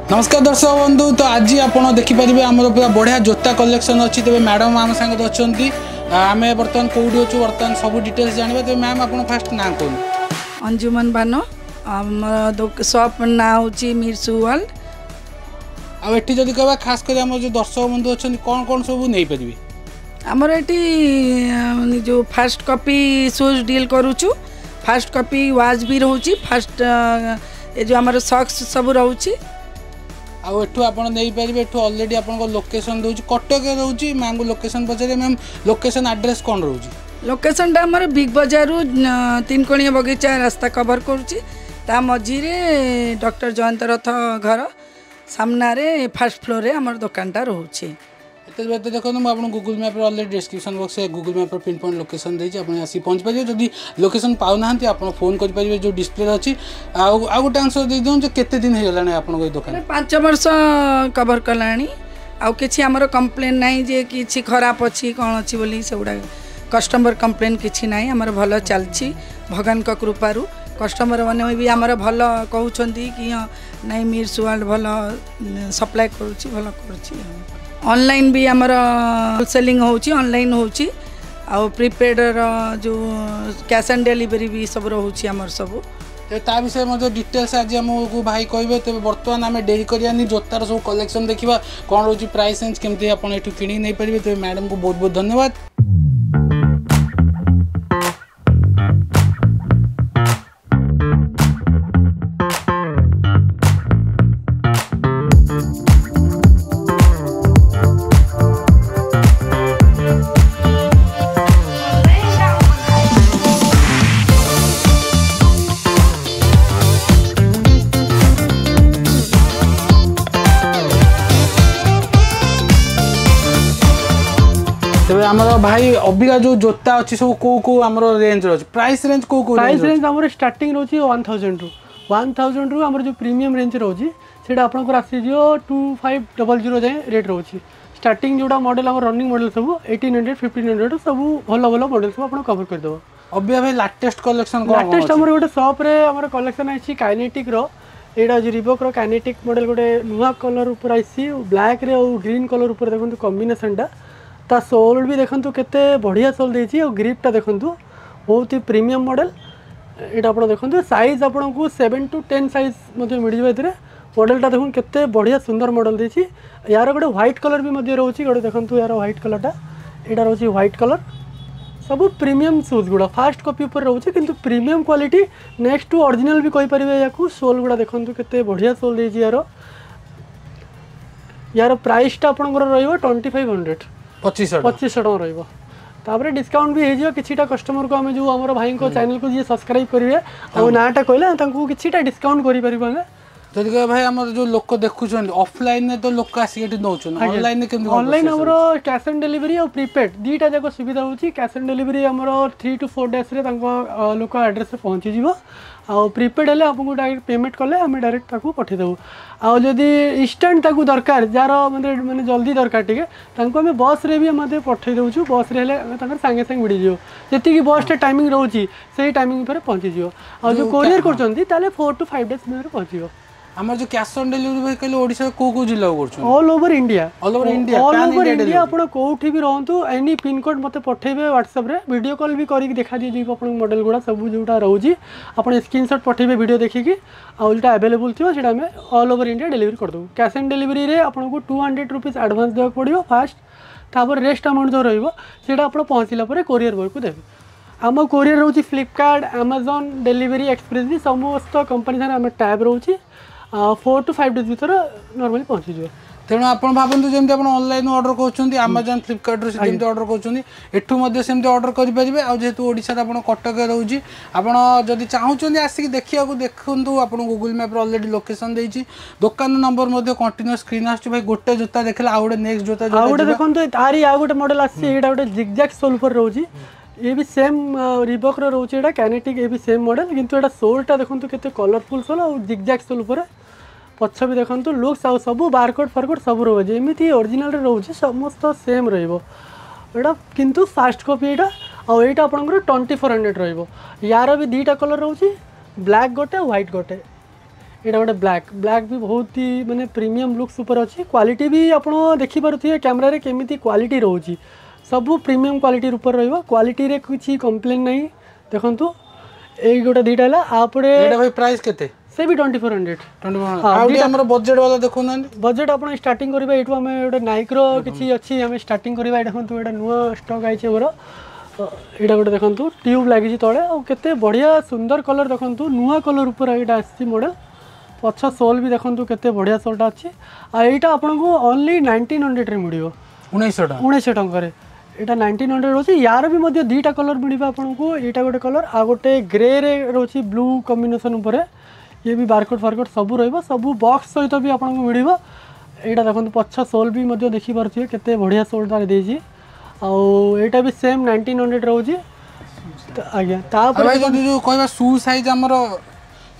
ନମସ୍କାର ଦର୍ଶକ ବନ୍ଧୁ। ତ ଆଜି ଆପଣ ଦେଖିପାରିବେ ଆମର ପୁରା ବଢ଼ିଆ ଜୋତା କଲେକ୍ସନ୍ ଅଛି। ତେବେ ମ୍ୟାଡ଼ାମ୍ ଆମ ସାଙ୍ଗରେ ଅଛନ୍ତି। ଆମେ ବର୍ତ୍ତମାନ କେଉଁଠି ଅଛୁ, ବର୍ତ୍ତମାନ ସବୁ ଡିଟେଲ୍ସ ଜାଣିବା। ତେବେ ମ୍ୟାମ୍, ଆପଣ ଫାଷ୍ଟ ନାଁ କୁହନ୍ତୁ। ଅଞ୍ଜୁମନ ବାନୋ। ଆମର ସପ୍ ନାଁ ହେଉଛି ମିର୍ ସୁ ୱାର୍ଲଡ। ଆଉ ଏଠି ଯଦି କହିବା, ଖାସ କରି ଆମର ଯେଉଁ ଦର୍ଶକ ବନ୍ଧୁ ଅଛନ୍ତି, କ'ଣ କ'ଣ ସବୁ ନେଇପାରିବେ? ଆମର ଏଠି ଯେଉଁ ଫାଷ୍ଟ କପି ସୁଜ୍ ଡିଲ୍ କରୁଛୁ, ଫାଷ୍ଟ କପି ୱାଚ୍ ବି ରହୁଛି, ଫାଷ୍ଟ ଏ ଯେଉଁ ଆମର ସକ୍ସ ସବୁ ରହୁଛି। ଆଉ ଏଠୁ ଆପଣ ନେଇପାରିବେ। ଏଠୁ ଅଲରେଡ଼ି ଆପଣଙ୍କ ଲୋକେସନ୍ ଦେଉଛି, କଟକରେ ରହୁଛି। ମ୍ୟାମ୍କୁ ଲୋକେସନ୍ ପଚାରିବେ। ମ୍ୟାମ୍, ଲୋକେସନ୍ ଆଡ୍ରେସ୍ କ'ଣ ରହୁଛି? ଲୋକେସନ୍ଟା ଆମର ବିଗ୍ ବଜାରରୁ ତିନକୋଣିଆ ବଗିଚା ରାସ୍ତା କଭର କରୁଛି। ତା ମଝିରେ ଡକ୍ଟର ଜୟନ୍ତ ରଥ ଘର ସାମ୍ନାରେ ଫାର୍ଷ୍ଟ ଫ୍ଲୋରରେ ଆମର ଦୋକାନଟା ରହୁଛି। ଏତେ ଦେଖନ୍ତୁ, ମୁଁ ଆପଣଙ୍କୁ ଗୁଗୁଲ୍ ମ୍ୟାପ୍ରେ ଅଲରେଡ଼ି ଡିସ୍କ୍ରିପ୍ସନ୍ ବକ୍ସରେ ଗୁଗୁଲ୍ ମ୍ୟାପ୍ର ପିନ୍ ପଏଣ୍ଟ ଲୋକେସନ୍ ଦେଇଛି, ଆପଣ ଆସିକି ପହଞ୍ଚିପାରିବେ। ଯଦି ଲୋକେସନ୍ ପାଉନାହାନ୍ତି, ଆପଣ ଫୋନ୍ କରିପାରିବେ ଯେଉଁ ଡିସପ୍ଲେରେ ଅଛି। ଆଉ ଗୋଟେ ଆନ୍ସର୍ ଦେଇଦିଅନ୍ତୁ ଯେ କେତେ ଦିନ ହେଇଗଲାଣି ଆପଣଙ୍କ ଏଇ ଦୋକାନ? 5 ବର୍ଷ କଭର କଲାଣି। ଆଉ କିଛି ଆମର କମ୍ପ୍ଲେନ୍ ନାହିଁ ଯେ କିଛି ଖରାପ ଅଛି, କ'ଣ ଅଛି ବୋଲି। ସେଗୁଡ଼ା କଷ୍ଟମର କମ୍ପ୍ଲେନ୍ କିଛି ନାହିଁ। ଆମର ଭଲ ଚାଲିଛି ଭଗବାନଙ୍କ କୃପାରୁ। କଷ୍ଟମର ମାନେ ବି ଆମର ଭଲ କହୁଛନ୍ତି କି ହଁ, ନାଇଁ, ମିର୍ସ ୱାର୍ଲଡ ଭଲ ସପ୍ଲାଏ କରୁଛି, ଭଲ କରୁଛି। ଅନଲାଇନ୍ ବି ଆମର ସେଲିଂ ହେଉଛି, ଅନଲାଇନ୍ ହେଉଛି। ଆଉ ପ୍ରିପେଡ଼ର ଯେଉଁ କ୍ୟାସ୍ ଅନ୍ ଡେଲିଭରି ବି ସବୁ ରହୁଛି ଆମର ସବୁ। ତେବେ ତା ବିଷୟରେ ମଧ୍ୟ ଡିଟେଲ୍ସ ଆଜି ଆମକୁ ଭାଇ କହିବେ। ତେବେ ବର୍ତ୍ତମାନ ଆମେ ଡେରି କରିବାନି, ଜୋତାର ସବୁ କଲେକ୍ସନ୍ ଦେଖିବା, କ'ଣ ରହୁଛି ପ୍ରାଇସ୍ ରେଞ୍ଜ, କେମିତି ଆପଣ ଏଠୁ କିଣିକି ନେଇପାରିବେ। ତେବେ ମ୍ୟାଡ଼ାମକୁ ବହୁତ ବହୁତ ଧନ୍ୟବାଦ। ତେବେ ଆମର ଭାଇ, ଅବିକା ଯେଉଁ ଜୋତା ଅଛି ସବୁ କୋଉ କୋଉ ଆମର ରେଞ୍ଜର ଅଛି, ପ୍ରାଇସ୍ ରେଞ୍ଜ କୋଉ କୋଉ? ପ୍ରାଇସ୍ ରେଞ୍ଜ ଆମର ଷ୍ଟାର୍ଟିଂ ରହୁଛି 1000ରୁ। 1000ରୁ ଆମର ଯେଉଁ ପ୍ରିମିୟମ୍ ରେଞ୍ଜ ରହୁଛି, ସେଇଟା ଆପଣଙ୍କର ଆସିଯିବ 2500 ଯାଏଁ ରେଟ୍ ରହୁଛି। ଷ୍ଟାର୍ଟିଂ ଯେଉଁଟା ମଡ଼େଲ୍, ଆମର ରନିଂ ମଡ଼େଲ୍ ସବୁ 1800, 1500, ସବୁ ଭଲ ଭଲ ମଡ଼େଲ୍ ସବୁ ଆପଣ କଭର କରିଦେବ। ଅବିକା ଭାଇ, ଲାଟେଷ୍ଟ କଲେକ୍ସନ୍ କ'ଣ? ଲାଟେଷ୍ଟ ଆମର ଗୋଟେ ସପ୍ରେ ଆମର କଲେକ୍ସନ୍ ଆସିଛି କାଇନେଟିକ୍ର। ଏଇଟା ହେଉଛି ରିବକ୍ର କାଇନେଟିକ୍ ମଡ଼େଲ୍, ଗୋଟେ ନୂଆ କଲର୍ ଉପରେ ଆସିଛି, ବ୍ଲାକ୍ରେ ଆଉ ଗ୍ରୀନ୍ କଲର୍ ଉପରେ। ଦେଖନ୍ତୁ କମ୍ବିନେସନ୍ଟା, ତା ସୋଲ୍ ବି ଦେଖନ୍ତୁ କେତେ ବଢ଼ିଆ ସୋଲ୍ ଦେଇଛି। ଆଉ ଗ୍ରିପ୍ଟା ଦେଖନ୍ତୁ, ବହୁତ ହି ପ୍ରିମିୟମ୍ ମଡ଼େଲ୍ ଏଇଟା। ଆପଣ ଦେଖନ୍ତୁ, ସାଇଜ୍ ଆପଣଙ୍କୁ 7 ଟୁ 10 ସାଇଜ୍ ମଧ୍ୟ ମିଳିଯିବ ଏଥିରେ। ମଡ଼େଲଟା ଦେଖନ୍ତୁ, କେତେ ବଢ଼ିଆ ସୁନ୍ଦର ମଡ଼େଲ୍ ଦେଇଛି। ୟାର ଗୋଟେ ହ୍ୱାଇଟ୍ କଲର୍ ବି ମଧ୍ୟ ରହୁଛି ଗୋଟେ। ଦେଖନ୍ତୁ ୟାର ହ୍ୱାଇଟ୍ କଲର୍ଟା, ଏଇଟା ରହୁଛି ହ୍ୱାଇଟ୍ କଲର୍। ସବୁ ପ୍ରିମିୟମ୍ ସୁଜ୍ ଗୁଡ଼ା ଫାଷ୍ଟ କପି ଉପରେ ରହୁଛି, କିନ୍ତୁ premium quality, next to original ବି କହିପାରିବେ ୟାକୁ। ସୋଲ୍ ଗୁଡ଼ା ଦେଖନ୍ତୁ, କେତେ ବଢ଼ିଆ ସୋଲ୍ ଦେଇଛି ୟାର। ୟାର ପ୍ରାଇସ୍ଟା ଆପଣଙ୍କର ରହିବ 2500। 2500? 2500 ଟଙ୍କା ରହିବ। ତାପରେ ଡିସକାଉଣ୍ଟ ବି ହେଇଯିବ କିଛିଟା କଷ୍ଟମରକୁ। ଆମେ ଯେଉଁ ଆମର ଭାଇଙ୍କ ଚ୍ୟାନେଲକୁ ଯିଏ ସବସ୍କ୍ରାଇବ୍ କରିବେ ଆଉ ନାଁଟା କହିଲେ, ତାଙ୍କୁ କିଛିଟା ଡିସକାଉଣ୍ଟ କରିପାରିବୁ ଆମେ। ଯଦି କହିବା ଭାଇ, ଆମର ଯେଉଁ ଲୋକ ଦେଖୁଛନ୍ତି, ଅଫଲାଇନରେ ତ ଲୋକ ଆସିକି ଏଠି ନେଉଛନ୍ତି, ଅନଲାଇନରେ କେମିତି? ଅନଲାଇନ୍ ଆମର କ୍ୟାସ୍ ଅନ୍ ଡେଲିଭରି ଆଉ ପ୍ରିପେଡ୍ ଦୁଇଟା ଯାକ ସୁବିଧା ହେଉଛି। କ୍ୟାସ୍ ଅନ୍ ଡେଲିଭରି ଆମର 3 ଟୁ 4 ଡେଜ୍ରେ ତାଙ୍କ ଲୋକ ଆଡ୍ରେସ୍ରେ ପହଞ୍ଚିଯିବ। ଆଉ ପ୍ରିପେଡ୍ ହେଲେ ଆପଣଙ୍କୁ ଡାଇରେକ୍ଟ ପେମେଣ୍ଟ କଲେ ଆମେ ଡାଇରେକ୍ଟ ତାକୁ ପଠାଇଦେବୁ। ଆଉ ଯଦି ଇନଷ୍ଟାଣ୍ଟ ତାକୁ ଦରକାର, ଯାହାର ମାନେ ଜଲ୍ଦି ଦରକାର ଟିକେ, ତାଙ୍କୁ ଆମେ ବସ୍ରେ ବି ମଧ୍ୟ ପଠାଇ ଦେଉଛୁ। ବସ୍ରେ ହେଲେ ତାଙ୍କର ସାଙ୍ଗେ ସାଙ୍ଗେ ମିଳିଯିବ। ଯେତିକି ବସ୍ଟା ଟାଇମିଂ ରହୁଛି, ସେଇ ଟାଇମିଂ ଉପରେ ପହଞ୍ଚିଯିବ। ଆଉ ଯେଉଁ କୋରିୟର କରୁଛନ୍ତି, ତାହେଲେ 4 ଟୁ 5 ଡେଜ୍ ଭିତରେ ପହଞ୍ଚିଯିବ। ଆମର ଯେଉଁ କ୍ୟାସ୍ ଅନ୍ ଡେଲିଭରି ଭାଇ କହିଲେ, ଓଡ଼ିଶାର କୋଉ କୋଉ ଜିଲ୍ଲାକୁ କରୁଛନ୍ତି? All over India. All over India? All over India. ଆପଣ କୋଉଠି ବି ରହନ୍ତୁ, ଏନି ପିନ୍କୋଡ଼୍ ମୋତେ ପଠେଇବେ ହ୍ୱାଟ୍ସଆପ୍ରେ, ଭିଡ଼ିଓ କଲ୍ ବି କରିକି ଦେଖା ଦିଆଯିବ ଆପଣଙ୍କୁ। ମଡ଼େଲ୍ ଗୁଡ଼ା ସବୁ ଯେଉଁଟା ରହୁଛି, ଆପଣ ସ୍କ୍ରିନସଟ୍ ପଠେଇବେ ଭିଡ଼ିଓ ଦେଖିକି, ଆଉ ଯେଉଁଟା ଆଭେଲେବୁଲ୍ ଥିବ, ସେଇଟା ଆମେ ଅଲ୍ ଓଭର ଇଣ୍ଡିଆ ଡେଲିଭରି କରିଦେବୁ। କ୍ୟାସ୍ ଅନ୍ ଡେଲିଭରିରେ ଆପଣଙ୍କୁ 200 ରୁପିଜ୍ ଆଡ଼ଭାନ୍ସ ଦେବାକୁ ପଡ଼ିବ ଫାଷ୍ଟ। ତାପରେ ରେଷ୍ଟ ଆମାଉଣ୍ଟ ଯେଉଁ ରହିବ, ସେଇଟା ଆପଣ ପହଞ୍ଚିଲା ପରେ କୋରିୟର ବୟକୁ ଦେବେ। ଆମ କୋରିୟର ରହୁଛି ଫ୍ଲିପକାର୍ଟ, ଆମାଜନ୍ ଡେଲିଭରି ଏକ୍ସପ୍ରେସ୍ ବି, ସମସ୍ତ କମ୍ପାନୀ ସାଙ୍ଗରେ ଆମେ ଟାଇଅପ୍ ରହୁଛି। 4 ଟୁ 5 ଡେଜ୍ ଭିତରେ ନର୍ମାଲି ପହଞ୍ଚିଯିବ। ତେଣୁ ଆପଣ ଭାବନ୍ତୁ, ଯେମିତି ଆପଣ ଅନଲାଇନ୍ ଅର୍ଡ଼ର କରୁଛନ୍ତି ଆମାଜନ୍, ଫ୍ଲିପକାର୍ଟରୁ ଯେମିତି ଅର୍ଡ଼ର କରୁଛନ୍ତି, ଏଠୁ ମଧ୍ୟ ସେମିତି ଅର୍ଡ଼ର କରିପାରିବେ। ଆଉ ଯେହେତୁ ଓଡ଼ିଶାରେ ଆପଣ କଟକରେ ରହୁଛି, ଆପଣ ଯଦି ଚାହୁଁଛନ୍ତି ଆସିକି ଦେଖିବାକୁ, ଦେଖନ୍ତୁ, ଆପଣ ଗୁଗୁଲ୍ ମ୍ୟାପ୍ରେ ଅଲରେଡ଼ି ଲୋକେସନ୍ ଦେଇଛି, ଦୋକାନ ନମ୍ବର ମଧ୍ୟ କଣ୍ଟିନ୍ୟୁ ସ୍କ୍ରିନ୍ ଆସୁଛି। ଭାଇ, ଗୋଟେ ଜୋତା ଦେଖିଲେ ଆଉ ଗୋଟେ ନେକ୍ସଟ ଜୋତା। ଆଉ ଗୋଟେ ଦେଖନ୍ତୁ, ତାରି ଆଉ ଗୋଟେ ମଡ଼େଲ୍ ଆସିଛି। ଏଇଟା ଗୋଟେ ଜିଗଜାକ୍ ସୋଲ୍ ଉପରେ ରହୁଛି। ଇଏ ବି ସେମ୍ ରିବକ୍ର ରହୁଛି ଏଇଟା କାଇନେଟିକ୍, ଏ ବି ସେମ୍ ମଡ଼େଲ୍, କିନ୍ତୁ ଏଇଟା ସୋଲ୍ଟା ଦେଖନ୍ତୁ, କେତେ କଲରଫୁଲ୍ ସୋଲ୍ ଆଉ ଜିଗଜାକ୍ ସୋଲ୍ ଉପରେ। ପଛ ବି ଦେଖନ୍ତୁ ଲୁକ୍ସ, ଆଉ ସବୁ ବାରକୋଡ଼ ଫାରକୋଡ଼ ସବୁ ରହିବ। ଯେମିତି ଅରିଜିନାଲରେ ରହୁଛି, ସମସ୍ତ ସେମ୍ ରହିବ ଏଇଟା, କିନ୍ତୁ ଫାଷ୍ଟ କପି ଏଇଟା। ଆଉ ଏଇଟା ଆପଣଙ୍କର 2400 ରହିବ। ୟାର ବି ଦୁଇଟା କଲର୍ ରହୁଛି, ବ୍ଲାକ୍ ଗୋଟେ, ହ୍ୱାଇଟ୍ ଗୋଟେ। ଏଇଟା ଗୋଟେ ବ୍ଲାକ୍। ବ୍ଲାକ୍ ବି ବହୁତ ହି ମାନେ ପ୍ରିମିୟମ୍ ଲୁକ୍ସ ଉପରେ ଅଛି। କ୍ୱାଲିଟି ବି ଆପଣ ଦେଖିପାରୁଥିବେ କ୍ୟାମେରାରେ କେମିତି କ୍ୱାଲିଟି ରହୁଛି। ସବୁ ପ୍ରିମିୟମ୍ କ୍ୱାଲିଟି ଉପରେ ରହିବ, କ୍ୱାଲିଟିରେ କିଛି କମ୍ପ୍ଲେନ୍ ନାହିଁ। ଦେଖନ୍ତୁ, ଏଇ ଗୋଟେ ଦୁଇଟା ହେଲା। ତାପରେ ଏଇଟା ଭାଇ ପ୍ରାଇସ୍ କେତେ? ସେ ବି 2400। ଆଉ ଟିକେ ଆମର ବଜେଟ୍ ବାଲା ଦେଖୁନାହାନ୍ତି। ବଜେଟ୍ ଆପଣ ଷ୍ଟାର୍ଟିଂ କରିବା ଏଇଠୁ। ଆମେ ଗୋଟେ ନାଇକ୍ର କିଛି ଅଛି, ଆମେ ଷ୍ଟାର୍ଟିଂ କରିବା। ଏଇଟା ଦେଖନ୍ତୁ, ଏଇଟା ନୂଆ ଷ୍ଟକ୍ ଆଇଛି ଆମର। ଏଇଟା ଗୋଟେ ଦେଖନ୍ତୁ, ଟ୍ୟୁବ୍ ଲାଗିଛି ତଳେ ଆଉ କେତେ ବଢ଼ିଆ ସୁନ୍ଦର କଲର୍ ଦେଖନ୍ତୁ। ନୂଆ କଲର୍ ଉପରେ ଏଇଟା ଆସିଛି ମଡ଼େଲ୍। ପଛ ସୋଲ୍ ବି ଦେଖନ୍ତୁ, କେତେ ବଢ଼ିଆ ସୋଲ୍ଟା ଅଛି। ଆଉ ଏଇଟା ଆପଣଙ୍କୁ ଓନ୍ଲି 1900ରେ ମିଳିବ। 1900 ଟଙ୍କା? 1900 ଟଙ୍କାରେ ଏଇଟା 1900 ରହୁଛି। ୟାର ବି ମଧ୍ୟ ଦୁଇଟା କଲର୍ ମିଳିବ ଆପଣଙ୍କୁ। ଏଇଟା ଗୋଟେ କଲର୍, ଆଉ ଗୋଟେ ଗ୍ରେରେ ରହୁଛି ବ୍ଲୁ କମ୍ବିନେସନ୍ ଉପରେ। ଇଏ ବି ବାରକୋଡ଼ ଫାରକୋଡ଼ ସବୁ ରହିବ, ସବୁ ବକ୍ସ ସହିତ ବି ଆପଣଙ୍କୁ ମିଳିବ। ଏଇଟା ଦେଖନ୍ତୁ, ପଛ ସୋଲ୍ ବି ମଧ୍ୟ ଦେଖିପାରୁଥିବେ, କେତେ ବଢ଼ିଆ ସୋଲ୍ ତାର ଦେଇଛି। ଆଉ ଏଇଟା ବି ସେମ୍ 1900 ରହୁଛି ଆଜ୍ଞା। ଆଉ ତାପରେ ଭାଇ, ଯଦି ଯୋଉ କହିବା ସୁ ସାଇଜ୍ ଆମର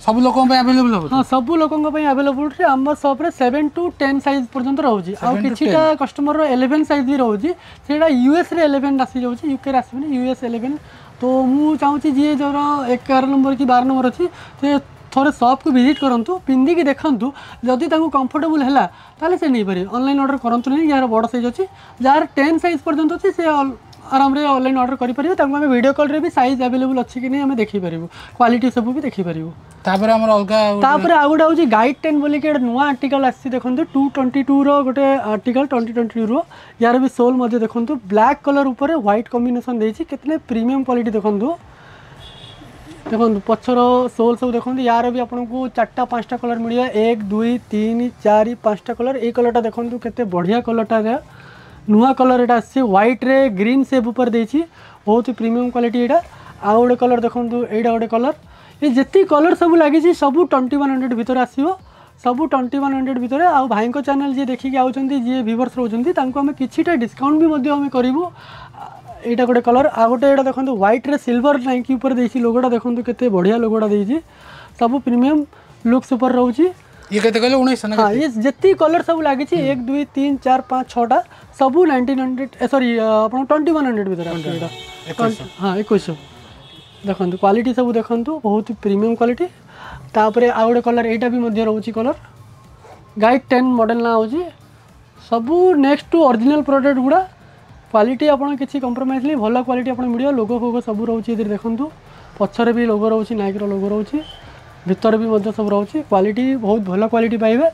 ସବୁ ଲୋକଙ୍କ ପାଇଁ ଆଭେଲେବୁଲ୍ ହେବ? ହଁ, ସବୁ ଲୋକଙ୍କ ପାଇଁ ଆଭେଲେବୁଲ୍। ଆମ ସପ୍ରେ 7 ଟୁ 10 ସାଇଜ୍ ପର୍ଯ୍ୟନ୍ତ ରହୁଛି। ଆଉ 7 to କିଛିଟା କଷ୍ଟମରର 11 ସାଇଜ୍ ବି ରହୁଛି। ସେଇଟା ୟୁଏସ୍ରେ 11 ଆସିଯାଉଛି, ୟୁକେରେ ଆସିବନି, ୟୁଏସ୍ 11। ତ ମୁଁ ଚାହୁଁଛି ଯିଏ ଯାର 11 ନମ୍ବର କି 12 ନମ୍ବର ଅଛି, ସେ ଥରେ ସପ୍କୁ ଭିଜିଟ୍ କରନ୍ତୁ, ପିନ୍ଧିକି ଦେଖନ୍ତୁ। ଯଦି ତାଙ୍କୁ କମ୍ଫର୍ଟେବୁଲ୍ ହେଲା, ତାହେଲେ ସେ ନେଇପାରିବେ। ଅନଲାଇନ୍ ଅର୍ଡ଼ର କରନ୍ତୁ ନାହିଁ ଯାହାର ବଡ଼ ସାଇଜ୍ ଅଛି। ଯାହାର 10 ସାଇଜ୍ ପର୍ଯ୍ୟନ୍ତ ଅଛି, ସେ ଆରାମରେ ଅନଲାଇନ୍ ଅର୍ଡ଼ର କରିପାରିବେ। ତାଙ୍କୁ ଆମେ ଭିଡ଼ିଓ କଲ୍ରେ ବି ସାଇଜ୍ ଆଭେଲେବୁଲ୍ ଅଛି କି ନାହିଁ ଆମେ ଦେଖିପାରିବୁ, କ୍ୱାଲିଟି ସବୁ ବି ଦେଖିପାରିବୁ। ତାପରେ ଆମର ଅଲଗା ତାପରେ ଆଉ ଗୋଟେ ହେଉଛି ଗାଇଡ୍ 10 ବୋଲିକି ଗୋଟେ ନୂଆ ଆର୍ଟିକଲ୍ ଆସିଛି। ଦେଖନ୍ତୁ, 222ର ଗୋଟେ ଆର୍ଟିକଲ୍, 2022ର। ୟାର ବି ସୋଲ୍ ମଧ୍ୟ ଦେଖନ୍ତୁ, ବ୍ଲାକ୍ କଲର୍ ଉପରେ ହ୍ୱାଇଟ୍ କମ୍ବିନେସନ୍ ଦେଇଛି। କେତେ ପ୍ରିମିୟମ୍ କ୍ୱାଲିଟି ଦେଖନ୍ତୁ। ଦେଖନ୍ତୁ, ପଛର ସୋଲ୍ ସବୁ ଦେଖନ୍ତୁ। ୟାର ବି ଆପଣଙ୍କୁ ଚାରିଟା ପାଞ୍ଚଟା କଲର୍ ମିଳିବ। ଏକ, ଦୁଇ, ତିନି, ଚାରି, ପାଞ୍ଚଟା କଲର୍। ଏଇ କଲର୍ଟା ଦେଖନ୍ତୁ, କେତେ ବଢ଼ିଆ କଲର୍ଟା। ନୂଆ କଲର୍ ଏଇଟା ଆସିଛି, ହ୍ୱାଇଟ୍ରେ ଗ୍ରୀନ୍ ସେପ୍ ଉପରେ ଦେଇଛି। ବହୁତ ପ୍ରିମିୟମ୍ କ୍ୱାଲିଟି ଏଇଟା। ଆଉ ଗୋଟେ କଲର୍ ଦେଖନ୍ତୁ, ଏଇଟା ଗୋଟେ କଲର୍। ଏ ଯେତିକି କଲର୍ ସବୁ ଲାଗିଛି, ସବୁ 2100 ଭିତରେ ଆସିବ, ସବୁ 2100 ଭିତରେ। ଆଉ ଭାଇଙ୍କ ଚ୍ୟାନେଲ୍ ଯିଏ ଦେଖିକି ଆଉଛନ୍ତି, ଯିଏ ଭିଭର୍ସ ରହୁଛନ୍ତି, ତାଙ୍କୁ ଆମେ କିଛିଟା ଡିସକାଉଣ୍ଟ ବି ମଧ୍ୟ ଆମେ କରିବୁ। ଏଇଟା ଗୋଟେ କଲର୍। ଆଉ ଗୋଟେ ଏଇଟା ଦେଖନ୍ତୁ, ହ୍ୱାଇଟ୍ରେ ସିଲଭର ନାଇକି ଉପରେ ଦେଇଛି ଲୋଗୋଟା। ଦେଖନ୍ତୁ, କେତେ ବଢ଼ିଆ ଲୋଗୋଟା ଦେଇଛି। ସବୁ ପ୍ରିମିୟମ୍ ଲୁକ୍ସ ଉପରେ ରହୁଛି। ଇଏ କେତେ କହିଲେ, 1900 ନା? ହଁ, ଇଏ ଯେତିକି କଲର୍ ସବୁ ଲାଗିଛି, ଏକ, ଦୁଇ, ତିନି, ଚାରି, ପାଞ୍ଚ, ଛଅଟା, ସବୁ 1900, ସରି, ଆପଣ 2100 ଭିତରେ ଆସିବ ଏଇଟା। ହଁ, 2100। ଦେଖନ୍ତୁ, କ୍ୱାଲିଟି ସବୁ ଦେଖନ୍ତୁ, ବହୁତ ପ୍ରିମିୟମ୍ କ୍ୱାଲିଟି। ତାପରେ ଆଉ ଗୋଟେ କଲର୍, ଏଇଟା ବି ମଧ୍ୟ ରହୁଛି କଲର୍। ଗାଇଡ୍ 10 ମଡ଼େଲ୍ ନାଁ ହେଉଛି। ସବୁ ନେକ୍ସଟ ଟୁ ଅରିଜିନାଲ୍ ପ୍ରଡ଼କ୍ଟ ଗୁଡ଼ା। କ୍ୱାଲିଟି ଆପଣ କିଛି କମ୍ପ୍ରମାଇଜ୍ ନାହିଁ, ଭଲ କ୍ୱାଲିଟି ଆପଣ ମିଳିବ। ଲୋଗୋ ଫୋଗୋ ସବୁ ରହୁଛି ଏଥିରେ। ଦେଖନ୍ତୁ, ପଛରେ ବି ଲୋଗୋ ରହୁଛି, ନାଇକିର ଲୋଗୋ ରହୁଛି, ଭିତରେ ବି ମଧ୍ୟ ସବୁ ରହୁଛି। କ୍ୱାଲିଟି ବହୁତ ଭଲ କ୍ୱାଲିଟି ପାଇବେ।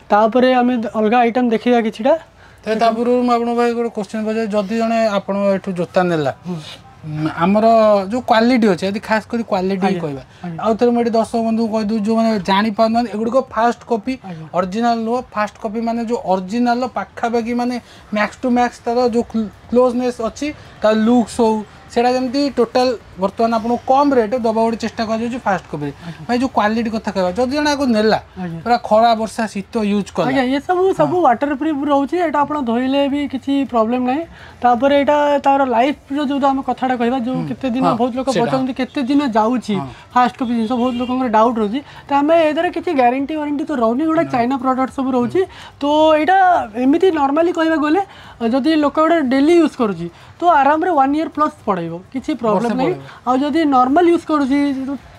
ତାପରେ ଆମେ ଅଲଗା ଆଇଟମ୍ ଦେଖିବା କିଛିଟା। ତେବେ ତା ପୂର୍ବରୁ ମୁଁ ଆପଣଙ୍କୁ ଭାଇ ଗୋଟେ କ୍ୱେଶ୍ଚନ୍ ପଚାରିବି। ଯଦି ଜଣେ ଆପଣ ଏଠୁ ଜୋତା ନେଲା, ଆମର ଯୋଉ କ୍ୱାଲିଟି ଅଛି, ଯଦି ଖାସ କରି କ୍ୱାଲିଟି କହିବା। ଆଉ ଥରେ ମୁଁ ଏଠି ଦର୍ଶକ ବନ୍ଧୁଙ୍କୁ କହିଦେଉଛି, ଯେଉଁମାନେ ଜାଣିପାରୁନାହାନ୍ତି, ଏଗୁଡ଼ିକ ଫାଷ୍ଟ କପି, ଅରିଜିନାଲ ନୁହଁ। ଫାଷ୍ଟ କପି ମାନେ ଯୋଉ ଅରିଜିନାଲ ପାଖାପାଖି, ମାନେ ମ୍ୟାକ୍ସ ଟୁ ମ୍ୟାକ୍ସ ତାର ଯୋଉ କ୍ଲୋଜନେସ୍ ଅଛି, ତାର ଲୁକ୍ସ ହଉ, ସେଇଟା ଯେମିତି ଟୋଟାଲ ବର୍ତ୍ତମାନ ଆପଣଙ୍କୁ କମ୍ ରେଟ୍ ଦେବା ଗୋଟେ ଚେଷ୍ଟା କରାଯାଉଛି ଫାଷ୍ଟ କପିରେ। ଭାଇ, ଯୋଉ କ୍ୱାଲିଟି କଥା କହିବା, ଯଦି ଜଣେ ଆକୁ ନେଲା, ପୁରା ଖରା, ବର୍ଷା, ଶୀତ ୟୁଜ୍ କଲା? ଆଜ୍ଞା, ଏ ସବୁ ସବୁ ୱାଟର ପ୍ରୁଫ୍ ରହୁଛି। ଏଇଟା ଆପଣ ଧୋଇଲେ ବି କିଛି ପ୍ରୋବ୍ଲେମ୍ ନାହିଁ। ତାପରେ ଏଇଟା ତାର ଲାଇଫ୍ର ଯୋଉ ଆମେ କଥାଟା କହିବା, ଯୋଉ କେତେ ଦିନ, ବହୁତ ଲୋକ ପଚାରନ୍ତି କେତେ ଦିନ ଯାଉଛି ଫାଷ୍ଟ କପି ଜିନିଷ, ବହୁତ ଲୋକଙ୍କର ଡାଉଟ୍ ରହୁଛି। ତ ଆମେ ଏଥିରେ କିଛି ଗ୍ୟାରେଣ୍ଟି ୱାରେଣ୍ଟି ତ ରହୁନି, ଗୋଟେ ଚାଇନା ପ୍ରଡ଼କ୍ଟ ସବୁ ରହୁଛି। ତ ଏଇଟା ଏମିତି ନର୍ମାଲି କହିବାକୁ ଗଲେ, ଯଦି ଲୋକ ଗୋଟେ ଡେଲି ୟୁଜ୍ କରୁଛି, ତ ଆରାମରେ ୱାନ୍ ଇୟର୍ ପ୍ଲସ୍ ପଳେଇବ, କିଛି ପ୍ରୋବ୍ଲେମ୍ ନାହିଁ। ଆଉ ଯଦି ନର୍ମାଲ ୟୁଜ୍ କରୁଛି,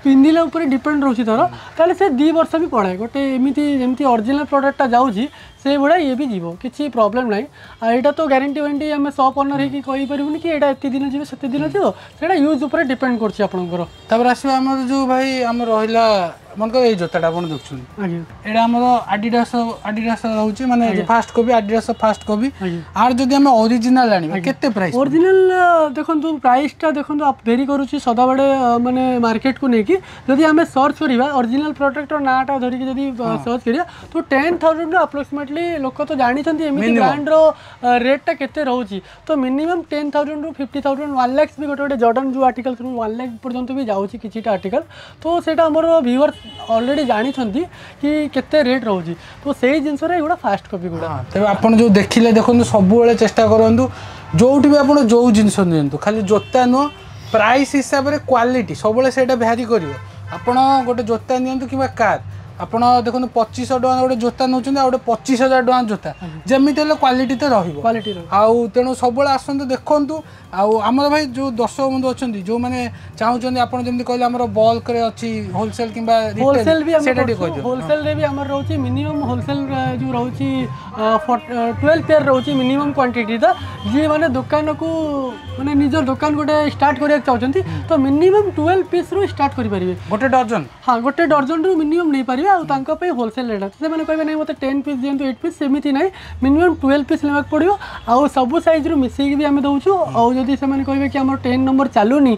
ପିନ୍ଧିଲା ଉପରେ ଡିପେଣ୍ଡ ରହୁଛି ତାର, ତାହେଲେ ସେ 2 ବର୍ଷ ବି ପଳାଏ। ଗୋଟେ ଏମିତି ଯେମିତି ଅରିଜିନାଲ୍ ପ୍ରଡ଼କ୍ଟଟା ଯାଉଛି, ସେଇଭଳିଆ ଇଏ ବି ଯିବ, କିଛି ପ୍ରୋବ୍ଲେମ୍ ନାହିଁ। ଆଉ ଏଇଟା ତ ଗ୍ୟାରେଣ୍ଟି ୱାରେଣ୍ଟି ଆମେ ସପ୍ ଅନର୍ ହେଇକି କହିପାରିବୁନି କି ଏଇଟା ଏତେ ଦିନ ଯିବ, ସେତେ ଦିନ ଯିବ। ସେଇଟା ୟୁଜ୍ ଉପରେ ଡିପେଣ୍ଡ କରୁଛି ଆପଣଙ୍କର। ତାପରେ ଆସିବା ଆମର ଯୋଉ ଭାଇ ଆମର ରହିଲା, ମନେକର ଏଇ ଜୋତାଟା ଆପଣ ଦେଖୁଛନ୍ତି। ଆଜ୍ଞା। ଏଇଟା ଆମର ଆଡିଡାସ, ଆଡିଡାସ ରହୁଛି, ମାନେ first copy, Adidas first copy. ଆଜ୍ଞା। ଆର ଯଦି ଆମେ ଅରିଜିନାଲ ଆଣିବା, କେତେ ପ୍ରାଇସ୍? ଅରିଜିନାଲ ଦେଖନ୍ତୁ, ପ୍ରାଇସ୍ଟା ଦେଖନ୍ତୁ, ଭେରି କରୁଛି ସଦାବେଳେ ମାନେ ମାର୍କେଟକୁ ନେଇକି। ଯଦି ଆମେ ସର୍ଚ୍ଚ କରିବା, ଅରିଜିନାଲ ପ୍ରଡ଼କ୍ଟର ନାଁଟା ଧରିକି ଯଦି ସର୍ଚ୍ଚ କରିବା, ତ 10,000ରୁ ଆପ୍ରୋକ୍ସିମେଟଲି, ଲୋକ ତ ଜାଣିଛନ୍ତି ଏମିତି ବ୍ରାଣ୍ଡର ରେଟ୍ଟା କେତେ ରହୁଛି। ତ ମିନିମମ୍ 10,000ରୁ 50,000, 1 ଲାକ୍ସ ବି, ଗୋଟେ ଗୋଟେ ଜର୍ଡନ ଯେଉଁ ଆର୍ଟିକଲ ସବୁ 1 ଲାକ୍ସ ପର୍ଯ୍ୟନ୍ତ ବି ଯାଉଛି କିଛିଟା ଆର୍ଟିକଲ। ତ ସେଇଟା ଆମର ଭିଉଅର୍ସ ଅଲରେଡ଼ି ଜାଣିଛନ୍ତି କି କେତେ ରେଟ୍ ରହୁଛି। ତ ସେଇ ଜିନିଷରେ ଏଗୁଡ଼ା ଫାଷ୍ଟ କପି ଗୁଡ଼ା। ତେବେ ଆପଣ ଯୋଉ ଦେଖିଲେ, ଦେଖନ୍ତୁ, ସବୁବେଳେ ଚେଷ୍ଟା କରନ୍ତୁ, ଯୋଉଠି ବି ଆପଣ ଯୋଉ ଜିନିଷ ନିଅନ୍ତୁ, ଖାଲି ଜୋତା ନୁହଁ, ପ୍ରାଇସ୍ ହିସାବରେ କ୍ୱାଲିଟି ସବୁବେଳେ ସେଇଟା ଭ୍ୟାରି କରିବ। ଆପଣ ଗୋଟେ ଜୋତା ନିଅନ୍ତୁ କିମ୍ବା କାର୍, ଆପଣ ଦେଖନ୍ତୁ, 2500 ଟଙ୍କା ଗୋଟେ ଜୋତା ନେଉଛନ୍ତି ଆଉ ଗୋଟେ 25,000 ଟଙ୍କା ଜୋତା, ଯେମିତି ହେଲେ କ୍ୱାଲିଟି ତ ରହିବ। କ୍ୱାଲିଟି ରହିବ। ଆଉ ତେଣୁ ସବୁବେଳେ ଆସନ୍ତୁ, ଦେଖନ୍ତୁ। ଆଉ ଆମର ଭାଇ ଯେଉଁ ଦର୍ଶକ ବନ୍ଧୁ ଅଛନ୍ତି, ଯେଉଁମାନେ ଚାହୁଁଛନ୍ତି, ଆପଣ ଯେମିତି କହିଲେ ଆମର ବଲ୍କରେ ଅଛି, ହୋଲସେଲ୍ କିମ୍ବା ହୋଲସେଲ୍ ବି ଆମେ ସେଇଟା ଟିକେ କହିଦିଅ। ହୋଲସେଲ୍ରେ ବି ଆମର ରହୁଛି। ମିନିମମ୍ ହୋଲସେଲ୍ ଯେଉଁ ରହୁଛି, 12 ପେୟାର ରହୁଛି ମିନିମମ୍ କ୍ୱାଣ୍ଟିଟିଟା। ଯିଏ ମାନେ ଦୋକାନକୁ ମାନେ ନିଜ ଦୋକାନ ଗୋଟେ ଷ୍ଟାର୍ଟ କରିବାକୁ ଚାହୁଁଛନ୍ତି, ତ ମିନିମମ୍ 12 ପିସ୍ରୁ ଷ୍ଟାର୍ଟ କରିପାରିବେ। ଗୋଟେ ଡଜନ। ହଁ, ଗୋଟେ ଡର୍ଜନରୁ ମିନିମମ୍ ନେଇପାରିବେ। ଆଉ ତାଙ୍କ ପାଇଁ ହୋଲସେଲ୍ ରେଟ୍। ସେମାନେ କହିବେ, ନାଇଁ, ମୋତେ 10 ପିସ୍ ଦିଅନ୍ତୁ, 8 ପିସ୍, ସେମିତି ନାହିଁ। ମିନିମମ୍ 12 ପିସ୍ ନେବାକୁ ପଡ଼ିବ। ଆଉ ସବୁ ସାଇଜ୍ରୁ ମିଶେଇକି ବି ଆମେ ଦେଉଛୁ। ଆଉ ଯଦି ସେମାନେ କହିବେ କି ଆମର 10 ନମ୍ବର ଚାଲୁନି,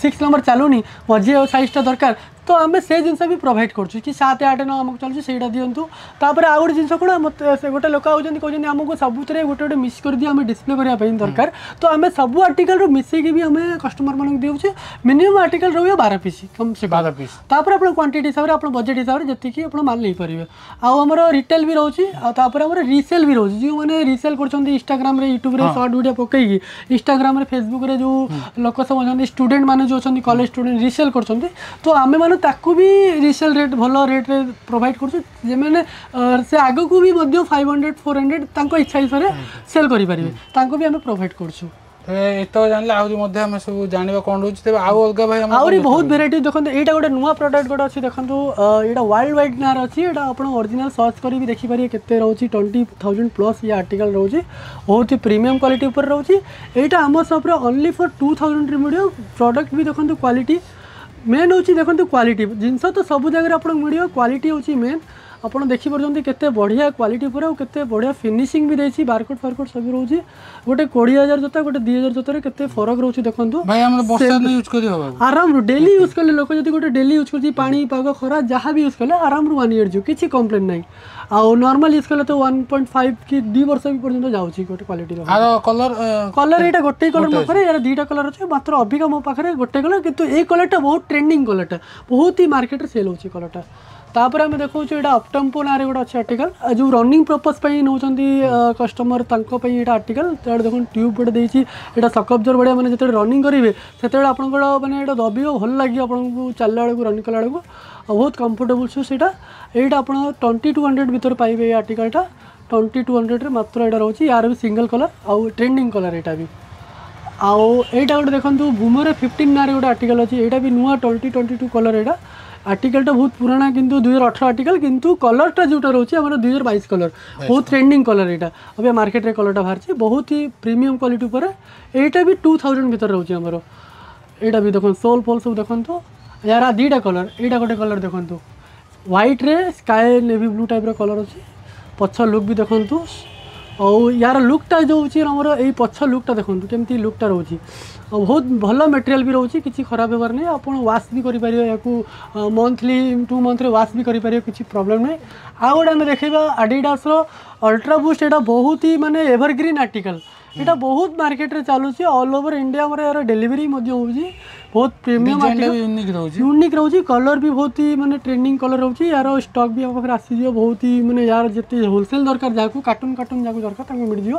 6 ନମ୍ବର ଚାଲୁନି, ମଝି ଆଉ ସାଇଜ୍ଟା ଦରକାର, ତ ଆମେ ସେ ଜିନିଷ ବି ପ୍ରୋଭାଇଡ଼ କରୁଛୁ କି 7, 8, 9 ଆମକୁ ଚାଲୁଛି, ସେଇଟା ଦିଅନ୍ତୁ। ତାପରେ ଆଉ ଗୋଟେ ଜିନିଷ କ'ଣ, ମୋତେ ସେ ଗୋଟେ ଲୋକ ଆଉଛନ୍ତି, କହୁଛନ୍ତି ଆମକୁ ସବୁଥିରେ ଗୋଟେ ଗୋଟେ ମିକ୍ସ କରିଦିଅ, ଆମେ ଡିସପ୍ଲେ କରିବା ପାଇଁ ଦରକାର। ତ ଆମେ ସବୁ ଆର୍ଟିକଲରୁ ମିଶେଇକି ବି ଆମେ କଷ୍ଟମରମାନଙ୍କୁ ଦେଉଛୁ। ମିନିମମ୍ ଆର୍ଟିକଲ ରହିବ 12 ପିସ୍ କମ୍ ସେ କମ୍। 12 ପିସ୍। ତାପରେ ଆପଣ କ୍ୱାଣ୍ଟିଟି ହିସାବରେ, ଆପଣ ବଜେଟ୍ ହିସାବରେ ଯେତିକି ଆପଣ ମାଲ ନେଇପାରିବେ। ଆଉ ଆମର ରିଟେଲ୍ ବି ରହୁଛି, ଆଉ ତାପରେ ଆମର ରିସେଲ୍ ବି ରହୁଛି। ଯେଉଁମାନେ ରିସେଲ୍ କରୁଛନ୍ତି ଇନଷ୍ଟାଗ୍ରାମରେ, ୟୁଟ୍ୟୁବରେ ସର୍ଟ ଭିଡ଼ିଓ ପକେଇକି, ଇନଷ୍ଟାଗ୍ରାମରେ, ଫେସବୁକ୍ରେ ଯେଉଁ ଲୋକ ସବୁ ଅଛନ୍ତି, ଷ୍ଟୁଡେଣ୍ଟ ମାନେ ଯେଉଁ ଅଛନ୍ତି, କଲେଜ ଷ୍ଟୁଡେଣ୍ଟ ରିସେଲ୍ କରୁଛନ୍ତି, ତ ଆମେମାନେ ତାକୁ ବି ରିସେଲ୍ ରେଟ୍ ଭଲ ରେଟ୍ରେ ପ୍ରୋଭାଇଡ଼ କରୁଛୁ। ଯେଉଁମାନେ ସେ ଆଗକୁ ବି ମଧ୍ୟ 500, 400 ତାଙ୍କ ଇଚ୍ଛା ହିସାବରେ ସେଲ୍ କରିପାରିବେ, ତାଙ୍କୁ ବି ଆମେ ପ୍ରୋଭାଇଡ଼ କରୁଛୁ। ତେବେ ଏତକ ଜାଣିଲେ, ଆହୁରି ମଧ୍ୟ ଆମେ ସବୁ ଜାଣିବା କ'ଣ ରହୁଛି। ତେବେ ଆଉ ଅଲଗା ଭାଇ ଆମର ଆହୁରି ବହୁତ ଭେରାଇଟି ଦେଖନ୍ତୁ। ଏଇଟା ଗୋଟେ ନୂଆ ପ୍ରଡକ୍ଟ ଗୋଟେ ଅଛି, ଦେଖନ୍ତୁ। ଏଇଟା ୱାର୍ଲଡ ୱାଇଡ୍ ନାଁରେ ଅଛି। ଏଇଟା ଆପଣ ଅରିଜିନାଲ ସର୍ଚ୍ଚ କରି ବି ଦେଖିପାରିବେ କେତେ ରହୁଛି। 20,000 ପ୍ଲସ୍ ଇଏ ଆର୍ଟିକଲ ରହୁଛି। ବହୁତ ହି ପ୍ରିମିୟମ୍ କ୍ୱାଲିଟି ଉପରେ ରହୁଛି। ଏଇଟା ଆମ ସପ୍ରେ ଓନ୍ଲି ଫର୍ 2000ରେ ମିଳିବ। ପ୍ରଡକ୍ଟ ବି ଦେଖନ୍ତୁ, କ୍ୱାଲିଟି ମେନ୍ ହେଉଛି। ଦେଖନ୍ତୁ, କ୍ୱାଲିଟି ଜିନିଷ ତ ସବୁ ଜାଗାରେ ଆପଣଙ୍କୁ ମିଳିବ, କ୍ୱାଲିଟି ହେଉଛି ମେନ୍। ଆପଣ ଦେଖିପାରୁଛନ୍ତି କେତେ ବଢ଼ିଆ କ୍ୱାଲିଟି ଉପରେ ଆଉ କେତେ ବଢ଼ିଆ ଫିନିସିଂ ବି ଦେଇଛି। ବାରକୋଡ଼ ଫାରକୋଡ଼ ସବୁ ରହୁଛି। ଗୋଟେ 20,000 ଜୋତା, ଗୋଟେ 2000 ଜୋତାରେ କେତେ ଫରକ ରହୁଛି ଦେଖନ୍ତୁ। ଭାଇ, ଆମର ବର୍ଷା ଦିନ ୟୁଜ୍ କରି ହବ? ଆରାମରୁ ଡେଲି ୟୁଜ୍ କଲେ, ଲୋକ ଯଦି ଗୋଟେ ଡେଲି ୟୁଜ୍ କରୁଛି, ପାଣି ପାଗ ଖରା ଯାହା ବି ୟୁଜ୍ କଲେ ଆରାମରୁ ୱାନ୍ ଇୟର୍ ଯିବ, କିଛି କମ୍ପ୍ଲେନ୍ ନାହିଁ। ଆଉ ନର୍ମାଲ ୟୁଜ୍ କଲେ ତ 1.5 କି 2 ବର୍ଷ ବି ପର୍ଯ୍ୟନ୍ତ ଯାଉଛି ଗୋଟେ କ୍ୱାଲିଟିର। ଆର କଲର? କଲର୍ ଏଇଟା ଗୋଟେ କଲର୍ ମୋ ପାଖରେ, ଏହାର ଦୁଇଟା କଲର୍ ଅଛି ମାତ୍ର। ଅବିକା ମୋ ପାଖରେ ଗୋଟେ କଲର୍, କିନ୍ତୁ ଏଇ କଲର୍ଟା ବହୁତ ଟ୍ରେଣ୍ଡିଂ କଲର୍ଟା, ବହୁତ ହି ମାର୍କେଟରେ ସେଲ୍ ହେଉଛି କଲର୍ଟା। ତାପରେ ଆମେ ଦେଖାଉଛୁ, ଏଇଟା ଅପଟମ୍ପୋ ନାଁରେ ଗୋଟେ ଅଛି ଆର୍ଟିକଲ। ଯେଉଁ ରନିଂ ପର୍ପସ୍ ପାଇଁ ନେଉଛନ୍ତି କଷ୍ଟମର, ତାଙ୍କ ପାଇଁ ଏଇଟା ଆର୍ଟିକଲ। ତାପରେ ଦେଖନ୍ତୁ, ଟ୍ୟୁବ୍ ଗୋଟେ ଦେଇଛି। ଏଇଟା ସକଅବଜର ବଢ଼ିଆ, ମାନେ ଯେତେବେଳେ ରନିଂ କରିବେ ସେତେବେଳେ ଆପଣଙ୍କର ମାନେ ଏଇଟା ଦବିବ, ଭଲ ଲାଗିବ ଆପଣଙ୍କୁ ଚାଲିଲା ବେଳକୁ, ରନିଂ କଲା ବେଳକୁ, ଆଉ ବହୁତ କମ୍ଫର୍ଟେବୁଲ୍ ସୁ ସେଇଟା। ଏଇଟା ଆପଣ 2200 ଭିତରେ ପାଇବେ ଏଇ ଆର୍ଟିକଲଟା। 2200ରେ ମାତ୍ର ଏଇଟା ରହୁଛି। ୟାର ବି ସିଙ୍ଗଲ୍ କଲର୍ ଆଉ ଟ୍ରେଣ୍ଡିଂ କଲର୍ ଏଇଟା ବି। ଆଉ ଏଇଟା ଗୋଟେ ଦେଖନ୍ତୁ, ବୁମର 15 ନାଁରେ ଗୋଟେ ଆର୍ଟିକଲ ଅଛି। ଏଇଟା ବି ନୂଆ 2022 କଲର୍। ଏଇଟା ଆର୍ଟିକଲଟା ବହୁତ ପୁରୁଣା, କିନ୍ତୁ 2018 ଆର୍ଟିକଲ, କିନ୍ତୁ କଲର୍ଟା ଯେଉଁଟା ରହୁଛି ଆମର 2022 କଲର୍, ବହୁତ ଟ୍ରେଣ୍ଡିଂ କଲର୍ ଏଇଟା। ଏବେ ମାର୍କେଟରେ କଲର୍ଟା ବାହାରିଛି, ବହୁତ ହି ପ୍ରିମିୟମ୍ କ୍ୱାଲିଟି ଉପରେ। ଏଇଟା ବି 2000 ଭିତରେ ରହୁଛି ଆମର। ଏଇଟା ବି ଦେଖନ୍ତୁ, ସୋଲ୍ ଫୋଲ୍ ସବୁ ଦେଖନ୍ତୁ। ୟାର ଦୁଇଟା କଲର୍, ଏଇଟା ଗୋଟେ କଲର୍ ଦେଖନ୍ତୁ, ହ୍ୱାଇଟ୍ରେ ସ୍କାଏ ନେଭି ବ୍ଲୁ ଟାଇପ୍ର କଲର୍ ଅଛି। ପଛ ଲୁକ୍ ବି ଦେଖନ୍ତୁ। ଆଉ ୟାର ଲୁକ୍ଟା ଯେଉଁ ହେଉଛି ଆମର, ଏଇ ପଛ ଲୁକ୍ଟା ଦେଖନ୍ତୁ କେମିତି ଲୁକ୍ଟା ରହୁଛି। ଆଉ ବହୁତ ଭଲ ମେଟେରିଆଲ୍ ବି ରହୁଛି, କିଛି ଖରାପ ହେବାର ନାହିଁ। ଆପଣ ୱାଶ୍ ବି କରିପାରିବେ ୟାକୁ, ମନ୍ଥଲି 2 ମନ୍ଥରେ ୱାଶ୍ ବି କରିପାରିବେ, କିଛି ପ୍ରୋବ୍ଲେମ୍ ନାହିଁ। ଆଉ ଗୋଟେ ଆମେ ଦେଖେଇବା ଆଡ଼ିଡାସର ଅଲ୍ଟ୍ରା ବୁଷ୍ଟ। ଏଇଟା ବହୁତ ହି ମାନେ ଏଭରଗ୍ରିନ୍ ଆର୍ଟିକଲ୍। ଏଇଟା ବହୁତ ମାର୍କେଟରେ ଚାଲୁଛି, ଅଲ୍ ଓଭର ଇଣ୍ଡିଆ ଆମର ଏହାର ଡେଲିଭରି ମଧ୍ୟ ହେଉଛି। ବହୁତ ପ୍ରିମିୟମ୍। ଡିଜାଇନଟା ବି ୟୁନିକ୍ ରହୁଛି। ୟୁନିକ୍ ରହୁଛି, କଲର୍ ବି ବହୁତ ହି ମାନେ ଟ୍ରେଣ୍ଡିଂ କଲର୍ ରହୁଛି। ୟାର ଷ୍ଟକ୍ ବି ଆମ ପାଖରେ ଆସିଯିବ ବହୁତ ହି, ମାନେ ୟାର ଯେତେ ହୋଲସେଲ୍ ଦରକାର ଯାହାକୁ, କାର୍ଟୁନ୍ କାର୍ଟୁନ୍ ଯାହାକୁ ଦରକାର ତାଙ୍କୁ ମିଳିଯିବ।